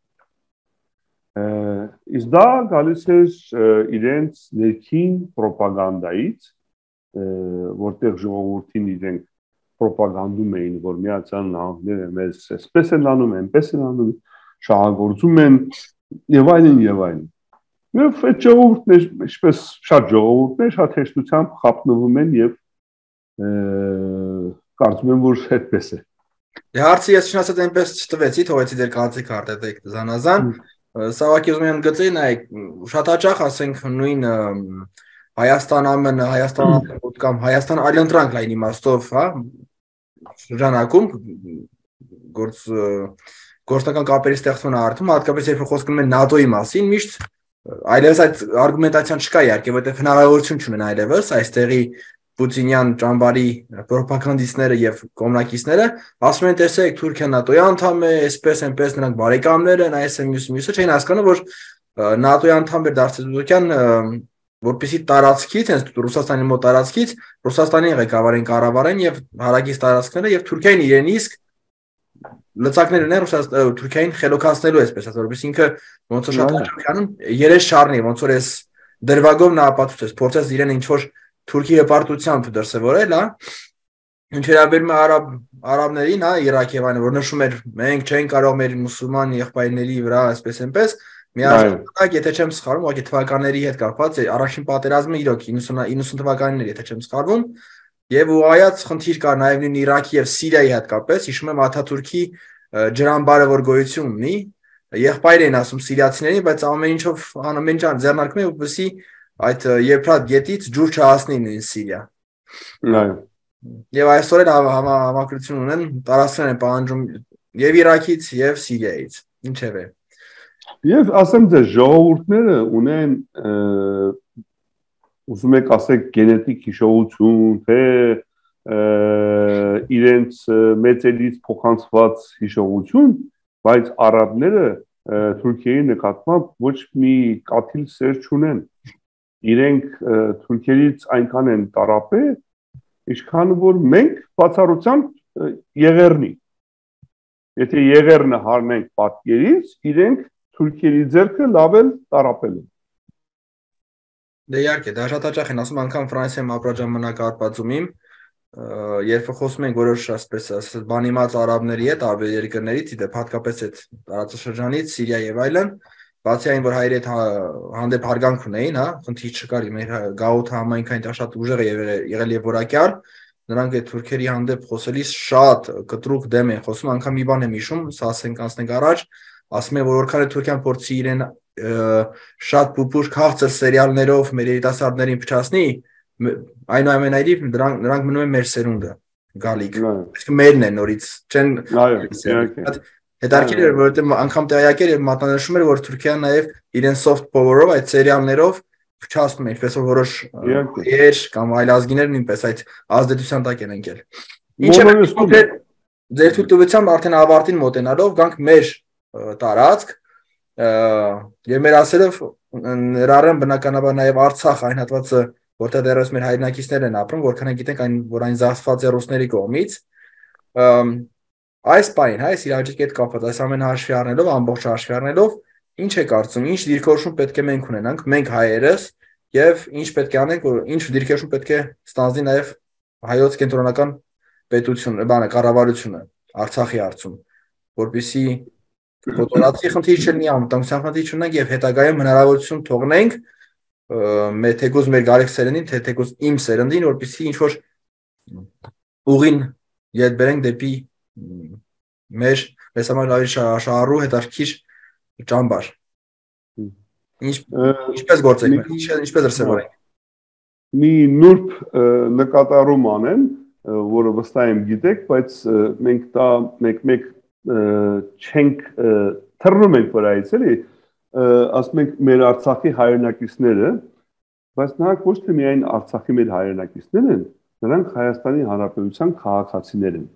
Իսկ դա գալիս էր իրենց ներքին պրոպագանդայից, որտեղ ժողովրդին իրենք պրոպագանդում էին, որ Միացյալ Նահանգները մեզ այսպես են անում, այնպես են անում, շահագործում են եւ այլն եւ այլն։ Եվ այդ ժողովուրդներ, ինչպես շատ ժողովուրդներ, շատ հեշտությամբ խափնվում են եւ կարծում եմ, որ այդպես է։ Հարցը ես չնայած այնպես չտվեցի, թողեցի ձեր կարծիքը արտահայտեք զանազան։ Սա ուղղակի ուզում եմ գծեի, նայեք, շատ հաճախ ասենք նույն Հայաստան ԱՄՆ, Հայաստան կամ Հայաստան այլընտրանք լայն իմաստով, հա, շրջանակում գործնական կապերի ստեղծման արդյունքում, հատկապես երբ խոսքում են ՆԱՏՕ-ի մասին, միշտ այլևս այդ արգումենտացիան չկա իհարկե, որտեղ հնարավորություն չունեն այլևս այստեղի Պուտինյան ճամբարի պրոպագանդիստները եւ կոմունակիստները ասում են, տեսեք, Թուրքիան ՆԱՏՕ-ի անդամ է, այսպես այնպես նրանք բարեկամներ են, այս մյուսը չէին հասկանում, որ ՆԱՏՕ-ի անդամ էր դարձել Թուրքիան, որպեսզի տարածքից, հենց Ռուսաստանի մոտ տարածքից, Ռուսաստանի ղեկավարին կառավարեն եւ հարակից տարածքները եւ Թուրքիային իրեն իսկ լծակներ ունեն Թուրքիային խելոքացնելու, այսպես ասած, որովհետեւ ինքը ոնց որ շատ հաճախ անում երես չառնի, ոնց որ այս դրվագով նա ապացուցեց, փորձեց իրեն ինչ-որ թուրքի հպարտությամբ դրսևորել, հա։ Ինչ վերաբերում է արաբներին, հա, Իրաքի եւ այլն, որ նշում էր, մենք չենք կարող մեր մուսուլման եղբայրների վրա այսպես այնպես, միաժամանակ, եթե չեմ սխալվում, ուղղակի թվականների հետ կապված է, առաջին պատերազմը իրոք 90 թվականներ, եթե չեմ սխալվում, եւ ուղղայած խնդիր կար նաեւ նույն Իրաքի եւ Սիրիայի հատկապես, հիշում եմ Աթաթուրքի ջրամբարը որ գոյություն ունի, եղբայր են ասում սիրիացիներին, բայց ամեն ինչով ամեն ինչ ձեռնարկում է, որպեսզի այդ Եփրատ գետից ջուր չհասնի նույն Սիրիա։ Այո։ Եվ այսօր էլ համակրություն ունեն, տարածքներ են պահանջում եւ Իրաքից եւ Սիրիայից, ինչեւէ։ Եվ ասեմ ձեզ, ժողովուրդները ունեն ուզում եք ասեք գենետիկ հիշողություն, թե իրենց մեծերից փոխանցված հիշողություն, բայց արաբները Թուրքիայի նկատմամբ ոչ մի կաթիլ սեր չունեն։ Իրենք թուրքերից այնքան են տարապել, ինչքան որ մենք բացառությամբ եղերնի։ Եթե եղերնը հարնենք պատկերից, իրենք թուրքերի ձեռքը լավ էլ տարապել են։ Դե իհարկե, դա շատ հաճախ են ասում, անգամ Ֆրանսիայում ապրաժամանակ արպածում իմ, երբ խոսում ենք որոշ ասպես բանիմաց արաբների հետ, տարբեր երկրներից, իդեպ հատկապես այդ տարածաշրջանից, Սիրիա եւ այլն, բացի այն, որ հայերի հետ հանդեպ հարգանք ունեին, հա, խնդիր չկար, մեր գաղութը համայնքային դա շատ ուժեղ եղել եւ որակյալ, նրանք այդ թուրքերի հանդեպ խոսելիս շատ կտրուկ դեմ են խոսում, անգամ մի բան եմ հիշում, սա ասենք անցնենք առաջ, ասում են, որ որքան է Թուրքիան փորձի իրեն շատ պուպուր քաղցր սերիալներով մեր երիտասարդներին փչացնի, այնուամենայնիվ նրանք մնում են մեր սերունդը գալիք, իսկ մերն են նորից չեն հետաքրքիր էր, որովհետեւ անգամ տեղյակ էր եւ մատնանշում էր, որ Թուրքիան նաեւ իրեն soft power-ով այդ սերիալներով փչացնում է, ինչպես որ որոշ երեշ կամ այլ ազգիներ նույնպես այդ ազդեցության տակ են ընկել։ Ինչը ձեր թույլտվությամբ արդեն ավարտին մոտենալով գանք մեր տարածք եւ մեր ասելով ներառեմ բնականաբար նաեւ Արցախ այն հատվածը, որտեղ դեռևս մեր հայրենակիցներ են ապրում, որքան են գիտենք այն, որ այն զարթված է ռուսների կողմից, այս պայն, հա, այս իրավիճակի հետ կապված, այս ամեն հաշվի առնելով, ամբողջ հաշվի առնելով, ինչ է կարծում, ինչ դիրքորոշում պետք է մենք ունենանք, մենք հայերս, եւ ինչ պետք է անենք, որ ինչ դիրքորոշում պետք է ստանձնի նաեւ հայոց կենտրոնական պետությունը, կառավարությունը Արցախի հարցում, որպեսզի Կոտորածի խնդիր չլինի, անվտանգության խնդիր չունենք եւ հետագայում հնարավորություն թողնենք մեր թեկուզ մեր գալիք սերնդին, թե թեկուզ իմ սերնդին, որպեսզի ինչ որ ուղին յետ բերենք դեպի մեր համար ավելի շահառու հետաքրքիր ճամբար։ Ինչպես գործենք, ինչպես դրսևորենք։ Մի նուրբ նկատառում անեն, որը վստահ եմ գիտեք, բայց մենք դա մեկ չենք թռնում ենք վրայից, էլի, ասում ենք մեր Արցախի հայրենակիցները, բայց նրանք ոչ թե միայն Արցախի մեր հայրենակիցներ են, նրանք Հայաստանի Հանրապետության քաղաքացիներ են։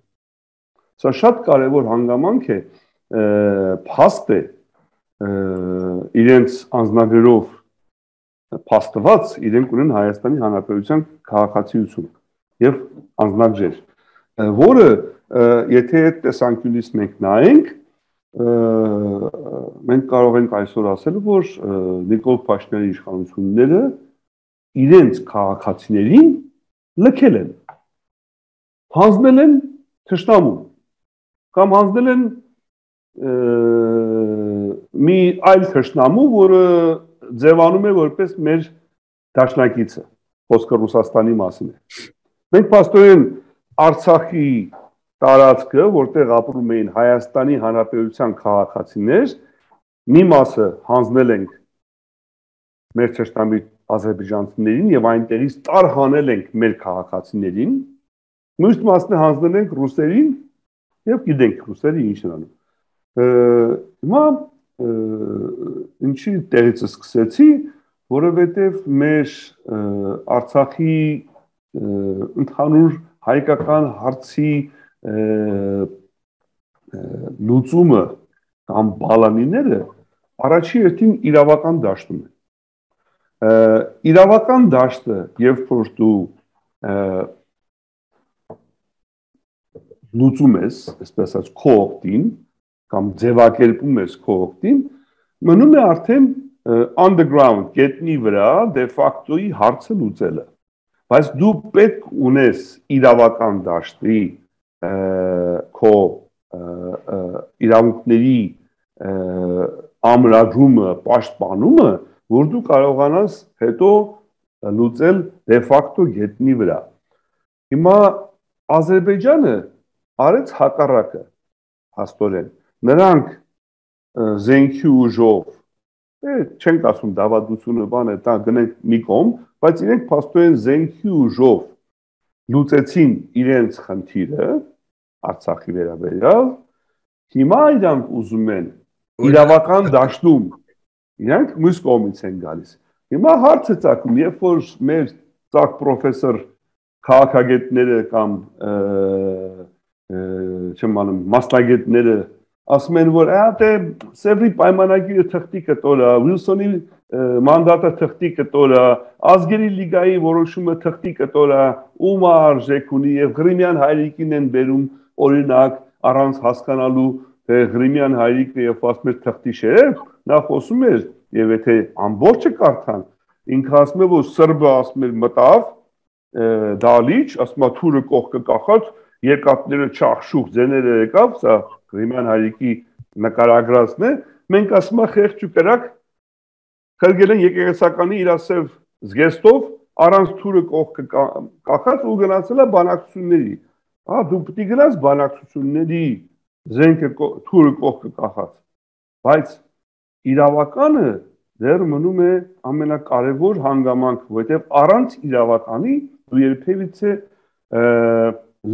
Սա շատ կարևոր հանգամանք է, փաստ է իրենց անձնագրերով փաստված, իրենք ունեն Հայաստանի Հանրապետության քաղաքացիություն եւ անձնագրեր, որը եթե այդ տեսանկյունից մենք նայենք, մենք կարող ենք այսօր ասել, որ Նիկոլ Փաշինյանի իշխանությունները իրենց քաղաքացիներին լքել են, հանձնել են թշնամուն, կամ հանձնել են մի այլ թշնամու, որը ձևանում է որպես մեր դաշնակիցը, խոսքը Ռուսաստանի մասին է։ Մենք փաստորեն Արցախի տարածքը, որտեղ ապրում էին Հայաստանի Հանրապետության քաղաքացիներ, մի մասը հանձնել ենք մեր թշնամի ազերբայջանցիներին եւ այնտեղից տարհանել ենք մեր քաղաքացիներին, մյուս մասը հանձնել ենք ռուսերին եւ գիտենք ռուսերը ինչ են անում։ Հիմա ինչի տեղից սկսեցի, որովհետեւ մեր Արցախի ընդհանուր հայկական հարցի լուծումը կամ բալանիները առաջի հերթին իրավական դաշտում են։ Իրավական դաշտը, երբ որ դու լուծում ես, այսպես ասած, քո օգտին կամ ձևակերպում ես քո օգտին, մնում է արդեն underground գետնի վրա դե ֆակտոյի հարցը լուծելը բայց դու պետք ունես իրավական դաշտի քո իրավունքների ամրագրումը պաշտպանումը որ դու կարողանաս հետո լուծել դե ֆակտո գետնի վրա հիմա Ադրբեջանը արեց հակառակը հաստորեն նրանք զենքի ուժով չենք ասում դավադությունը բան է դա գնենք մի կողմ բայց իրենք փաստորեն զենքի ուժով լուծեցին իրենց խնդիրը Արցախի վերաբերյալ հիմա իրանք ուզում են իրավական դաշտում իրանք մյուս կողմից են գալիս հիմա հարցը ծագում երբ որ մեր ծակ պրոֆեսոր քաղաքագետները կամ չեմ անում մասնագետները ասում են որ դե Սևրի պայմանագիրը թղթի կտորա Վիլսոնի մանդատը թղթի կտորա ազգերի լիգայի որոշումը թղթի կտորա ում արժեք ունի եւ Ղրիմյան հայրիկին են բերում օրինակ առանց հասկանալու թե Ղրիմյան հայրիկը եւ ասում էր թղթի շերեվ նա խոսում էր եւ եթե ամբողջը կարդան ինքը ասում է որ սրբը ասում էր մտավ դալիճ ասում է թուրը կողքը կախած երկաթները չախշուխ ձեները եկավ սա Ղրիմյան հայրիկի նկարագրածն է մենք ասում ենք խեղճ ու կրակ խրգել են եկեղեցականի իրասև զգեստով առանց թուրը կողքը կախած ու գնացել է բանակցությունների դու պետք է գնաս բանակցությունների զենքը թուրը կողքը կախած բայց իրավականը դեռ մնում է ամենակարևոր հանգամանքը որտեղ առանց իրավականի դու երբևիցե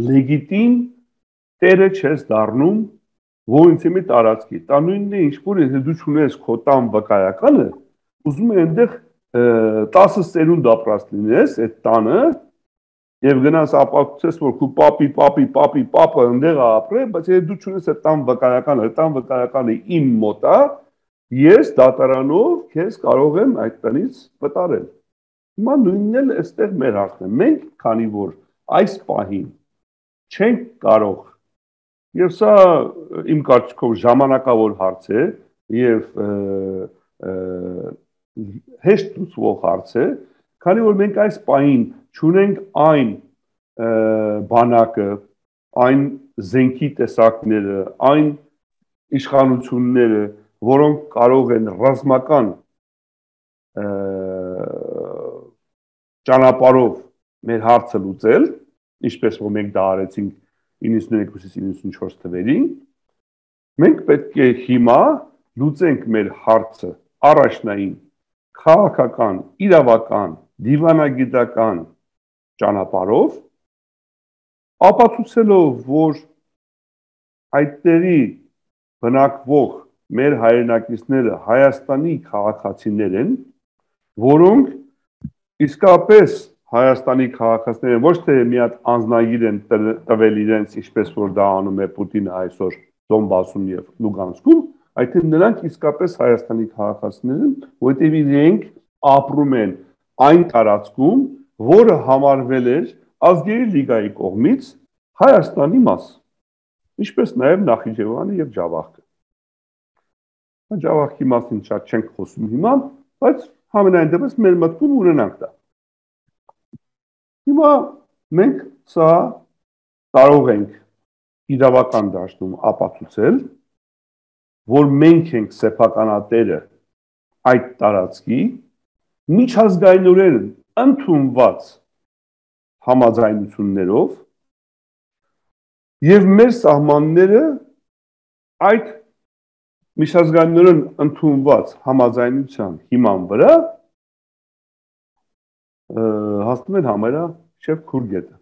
լեգիտիմ տերը չես դառնում ոնց է տարածքի դա նույնն է ինչ որ եթե դու չունես քո տան վկայականը ուզում ես այնտեղ 10 սերունդ ապրած լինես այդ տանը եւ գնաս ապացուցես որ քո պապը այնտեղ է ապրել բայց եթե դու չունես այդ տան վկայականը իմ մոտ է ես դատարանով քեզ կարող եմ այդ տնից վտարել հիմա նույնն էլ այստեղ մեր հարցն է մենք քանի որ այս պահին չենք կարող եւ սա իմ կարծիքով ժամանակավոր հարց է եւ հեշտ լուծվող հարց է քանի որ մենք այս պահին չունենք այն բանակը այն զենքի տեսակները այն իշխանությունները որոնք կարող են ռազմական ճանապարհով մեր հարցը լուծել ինչպես որ մենք դա արեցինք 92-94 թվերին մենք պետք է հիմա լուծենք մեր հարցը առաջնային քաղաքական, իրավական, դիվանագիտական ճանապարհով ապացուցելով որ այդտեղի բնակվող մեր հայրենակիցները Հայաստանի քաղաքացիներ են որոնք իսկապես Հայաստանի քաղաքացիները ոչ թե մի հատ անձնագիր են տվել իրենց ինչպես որ դա անում է Պուտինը այսօր Դոնբասում եւ Լուգանսկում, այդ նրանք իսկապես Հայաստանի քաղաքացիներ են, որտեղ իրենք ապրում են այն տարածքում, որը համարվել էր ազգերի լիգայի կողմից Հայաստանի մաս, ինչպես նաեւ Նախիջևանը եւ Ջավախքը։ Ջավախքի մասին շատ չենք խոսում հիմա, բայց համենայն դեպս մեր մտքում ունենանք դա։ Հիմա մենք սա կարող ենք իրավական դաշտում ապացուցել, որ մենք ենք սեփականատերը այդ տարածքի միջազգայինորեն ընդունված համաձայնություններով եւ մեր սահմանները այդ միջազգայինորեն ընդունված համաձայնության հիման վրա հասնում են համարյա շեփ քուրգետը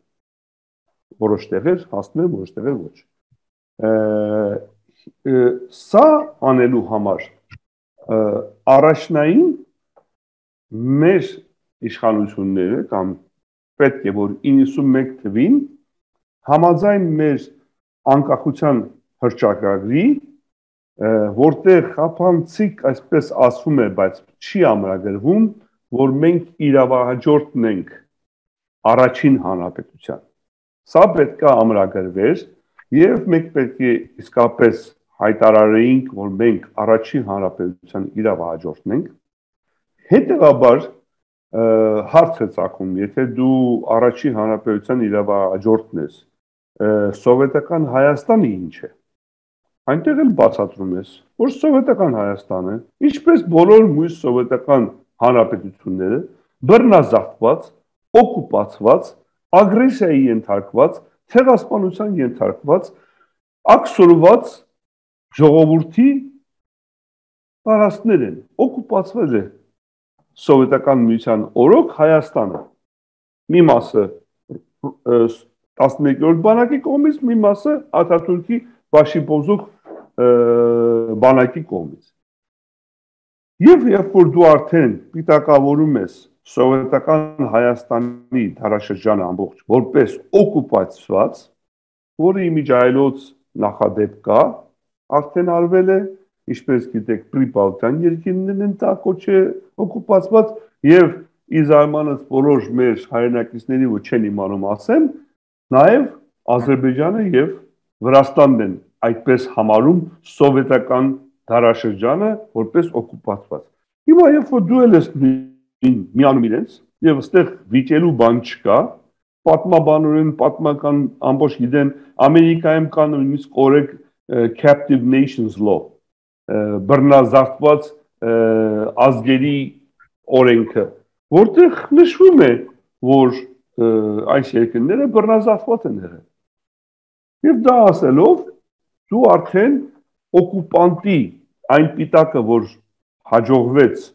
որոշ տեղեր հասնում են որոշ տեղեր ոչ սա անելու համար առաջնային մեր իշխանությունները կամ պետք է որ 91 թվին համաձայն մեր անկախության հռչակագրի որտեղ խափանցիկ այսպես ասվում է բայց չի ամրագրվում որ մենք իրավահաջորդն ենք առաջին հանրապետության սա պետք է ամրագրվեր եւ մենք պետք է իսկապես հայտարարեինք որ մենք առաջին հանրապետության իրավահաջորդն ենք Հետևաբար հարց է ծագում, եթե դու առաջին հանրապետության իրավահաջորդն ես, սովետական Հայաստանը ինչ է։ Այնտեղ էլ բացատրում ես, որ սովետական Հայաստանը, ինչպես բոլոր մյուս սովետական հանրապետությունները, բռնազավթված, օկուպացված, ագրեսիայի ենթարկված, ցեղասպանության ենթարկված, աքսորված ժողովրդի տարածքներ են, օկուպացվել է սովետական միության օրոք Հայաստանը։ Մի մասը 11-րդ բանակի կողմից, մի մասը Աթաթուրքի Բաշիբոզուկ բանակի կողմից։ Եվ երբ որ դու արդեն պիտակավորում ես սովետական Հայաստանի դարաշրջանը ամբողջ որպես օկուպացված, որը իմիջայլոց նախադեպ կա, արդեն արվել է, ինչպես գիտեք, Պրիբալտյան երկիրներն են դա կոչել օկուպացված եւ իզարմանս բոլոր մեր հայրենակիցների ու չեն իմանում ասեմ, նաեւ Ադրբեջանը եւ Վրաստանն են այդպես համարում սովետական դարաշրջանը որպես օկուպացված։ Հիմա երբ որ դու ես միանում իրենց եւ այստեղ վիճելու բան չկա, պատմաբանորեն պատմական ամբողջ գիտեն Ամերիկայում կա նույնիսկ օրենք captive nations law, բռնազավթված ազգերի օրենքը, որտեղ նշվում է, որ այս երկրները բռնազավթված են եղել։ Եվ դա ասելով դու արդեն օկուպանտի այն պիտակը, որ հաջողվեց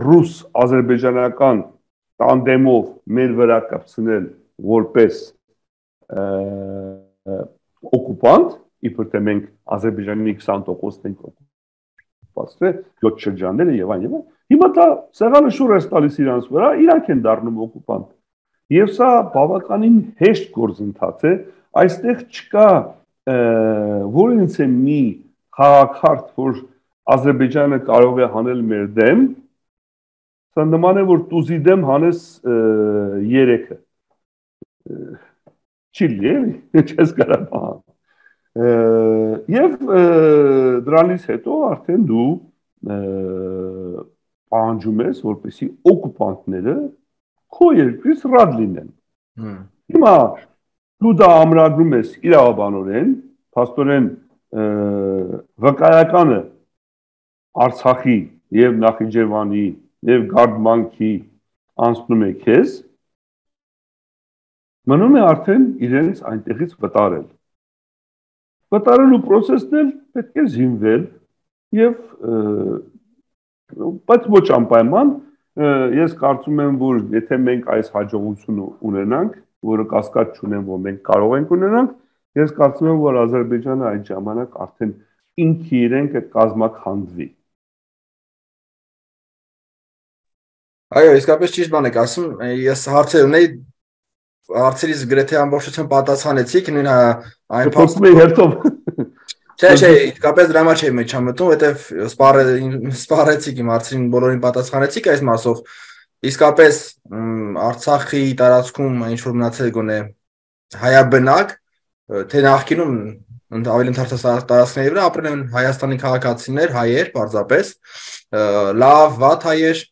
ռուս-ադրբեջանական տանդեմով մեր վրա կպցնել որպես օկուպանտ, իբր թե մենք Ադրբեջանի 20%-ն ենք օկուպացրել, 7 շրջանները եւ այն, հիմա դա սեղանը շուռ է տալիս իրանց վրա, իրանք են դառնում օկուպանտ։ Եվ սա բավականին հեշտ գործընթաց է, այստեղ չկա որինց է մի խաղաքարտ, որ Ադրբեջանը կարող է հանել մեր դեմ, սա նման է, որ տուզի դեմ հանես երեքը, չի լի, չես կարապահան։ Եվ դրանից հետո արդեն դու պահանջում ես, որպեսի օկուպանտները քո երկրից ռադ լինեն։ Հիմա դու դա ամրագրում ես իրավաբանորեն, փաստորեն վկայականը Արցախի եւ Նախիջևանի եւ Գարդմանքի անցնում է քեզ, մնում է արդեն իրենց այնտեղից վտարել։ Վտարելու process-ն էլ պետք է զինվել եւ բայց ոչ անպայման ես կարծում եմ, որ եթե մենք այս հաջողությունը ունենանք, որը կասկած չունեմ, որ մենք կարող ենք ունենանք, ես կարծում եմ, որ Ադրբեջանը այդ ժամանակ արդեն ինքը իրեն կկազմաքանդվի։ Այո, իսկապես ճիշտ բան եք ասում, ես հարցեր ունեի, հարցերից գրեթե ամբողջությամբ պատասխանեցիք, նույն այն Չէ, իսկապես դրա մեջ եմ չամտում, որտեվ սպառեցիք իմ հարցին, բոլորին պատասխանեցիք այս մասով։ Իսկապես Արցախի տարածքում ինչ որ մնացել գոնե հայաբնակ, թե նախկինում ավելի ընդհանրապես տարածքների վրա ապրել են Հայաստանի քաղաքացիներ, հայեր, պարզապես, լավ, վատ հայեր,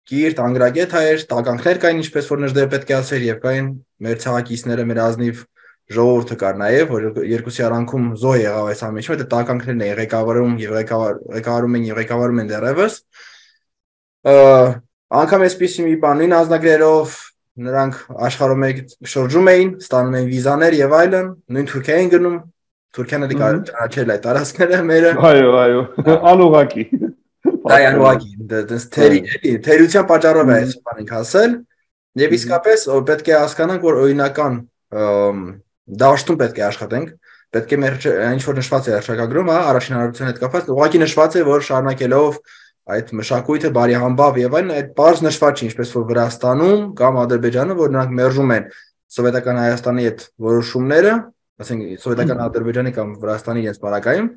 կիրթ, անգրագետ հայեր, տականքներ կային, ինչպես որ Նժդեհ պետք է ասեր, եւ կային մեր ցեղակիցները, մեր ազնիվ ժողովուրդը կար նաև, որ երկուսի արանքում զոհ եղավ այս ամենը, որտեղ տականքներն էին ղեկավարում եւ ղեկավարում են դեռևս։ Անկամ այսպիսի մի բան, նույն ազնագրերով նրանք աշխարհում շրջում էին, ստանում էին վիզաներ եւ այլն, նույն Թուրքիա են գնում, Թուրքիան էլ կարող ճանաչել այդ տարածքները մերը։ Այո, անուղակի։ Դա անուղակի, թերության պատճառով է այս բանին ասել, եւ իսկապես պետք է հասկանանք, որ օրինական դաշտում պետք է աշխատենք, պետք է մեր ինչ որ նշված է հռչակագրում, առաջին հանրության հետ կապված, ուղղակի նշված է, որ շարունակելով այդ մշակույթը, բարի համբավ եւ այլն, այդ բարձ նշված չի, ինչպես որ Վրաստանում կամ Ադրբեջանը, որ նրանք մերժում են սովետական Հայաստանի հետ որոշումները, ասենք սովետական Ադրբեջանի կամ Վրաստանի իրենց բարակայում,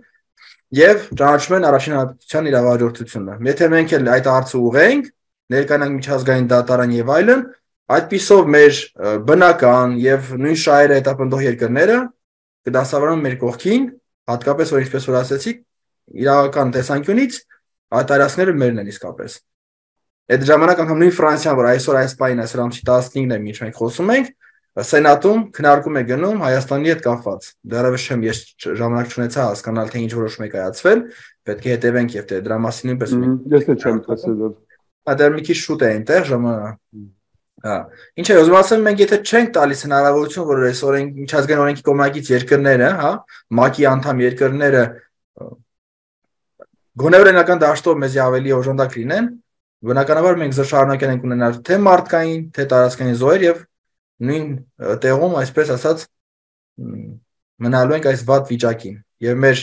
եւ ճանաչում են առաջին հանրության իրավահաջորդությունը։ Եթե մենք էլ այդ հարցը ուղենք, ներկայանանք միջազգային դատարան եւ այլն, այդպիսով մեր բնական եւ նույն շահերը հետապնդող երկրները կդասավարեն մեր կողքին, հատկապես որ ինչպես որ ասեցիք, իրավական տեսանկյունից այդ տարածքները մերն են իսկապես։ Այդ ժամանակ անգամ նույն Ֆրանսիան, որ այսօր այս պահին այսօր ամսի 15-ն է, ինչ մենք խոսում ենք, Սենատում քննարկում է գնում Հայաստանի հետ կապված։ Դեռևս չեմ ես ժամանակ չունեցա հասկանալ թե ինչ որոշում է կայացվել, պետք է հետևենք եւ դրա մասին նույնպես Ես էլ չեմ տեսել։ Դեռ մի քիչ շուտ է այնտեղ ժամանակ։ Հա, ինչ է, ուզում ասեմ, մենք եթե չենք տալիս հնարավորություն, որ այս միջազգային օրենքի կողմնակից երկրները, հա, ՄԱԿ-ի անդամ երկրները գոնե օրենական դաշտով մեզ ավելի օժանդակ լինեն, բնականաբար մենք շարունակել ենք ունենալ թե մարդկային, թե տարածքային զոհեր եւ նույն տեղում, այսպես ասած, մնալու ենք այս վատ վիճակին եւ մեր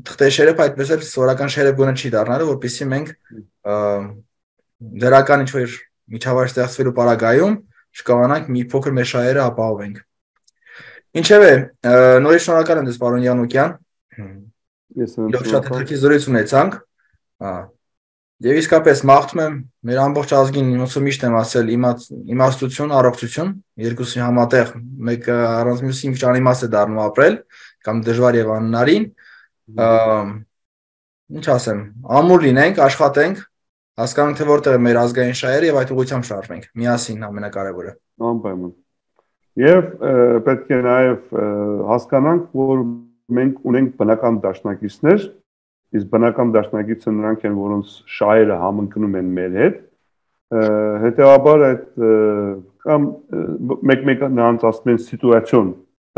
թղթեշերը այդպես էլ սովորական շերեփ գոնե չի դառնալու, որպեսզի մենք դրական ինչ-որ միջավայր ստեղծվելու պարագայում չկարողանանք մի փոքր մեր շահերը ապահովենք։ Ինչևէ, նորից շնորհակալ եմ ձեզ, պարոն Յանուկյան։ Ես շատ հետաքրքիր զրույց ունեցանք։ Եվ իսկապես մաղթում եմ մեր ամբողջ ազգին, ոնց որ միշտ եմ ասել, իմաստություն, առողջություն, երկուսի համատեղ, մեկը առանց մյուսի ինչ անիմաստ է դառնում ապրել, կամ դժվար եւ անհնարին։ Ինչ ասեմ, ամուր լինենք, աշխատենք, հասկանանք թե որտեղ է մեր ազգային շահերը եւ այդ ուղղությամբ շարժվենք։ Միասին ամենակարևորը։ Անպայման։ Եվ պետք է նաեւ հասկանանք, որ մենք ունենք բնական դաշնակիցներ, իսկ բնական դաշնակիցը նրանք են, որոնց շահերը համընկնում են մեր հետ, հետեւաբար այդ կամ մեկ նրանց ասում են սիտուացիոն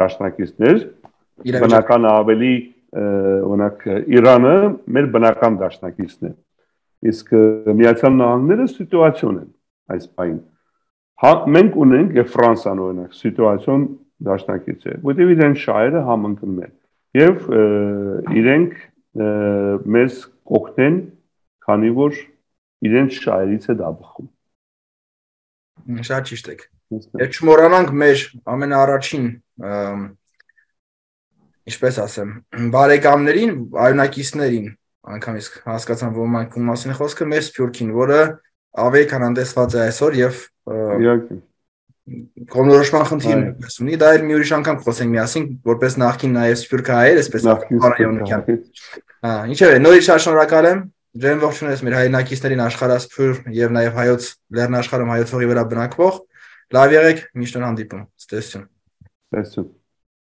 դաշնակիցներ, բնական ավելի օրինակ Իրանը մեր բնական դաշնակիցն է, իսկ Միացյալ Նահանգները սիտուացիոն են այս պահին։ Մենք ունենք եւ Ֆրանսիան օրինակ սիտուացիոն դաշնակից է, որտեղ իրեն շահերը համընկնում են եւ իրենք մեզ կօգնեն, քանի որ իրենց շահերից է դա բխում։ Շատ ճիշտ եք։ Եթե չմոռանանք մեր ամենաառաջին, ինչպես ասեմ, բարեկամներին, այունակիցներին, անգամ իսկ հասկացան ոմանք ում մասին է խոսքը, մեր Սփյուռքին, որը ավելի քան հանդեսված է այսօր եւ կողմնորոշման խնդիր ունի, դա էլ մի ուրիշ անգամ խոսենք միասին, որպես նախկին նաեւ սփյուռքահայեր, այսպես Յանուկյան։ Ինչևէ, նորից շատ շնորհակալ եմ։ Ջերմ ողջունես մեր հայրենակիցներին աշխարհասփյուռ եւ նաեւ հայոց լեռնաշխարհում հայոց հողի վրա բնակվող։ Լավ եղեք, միշտ հանդիպում։ Ցտեսություն։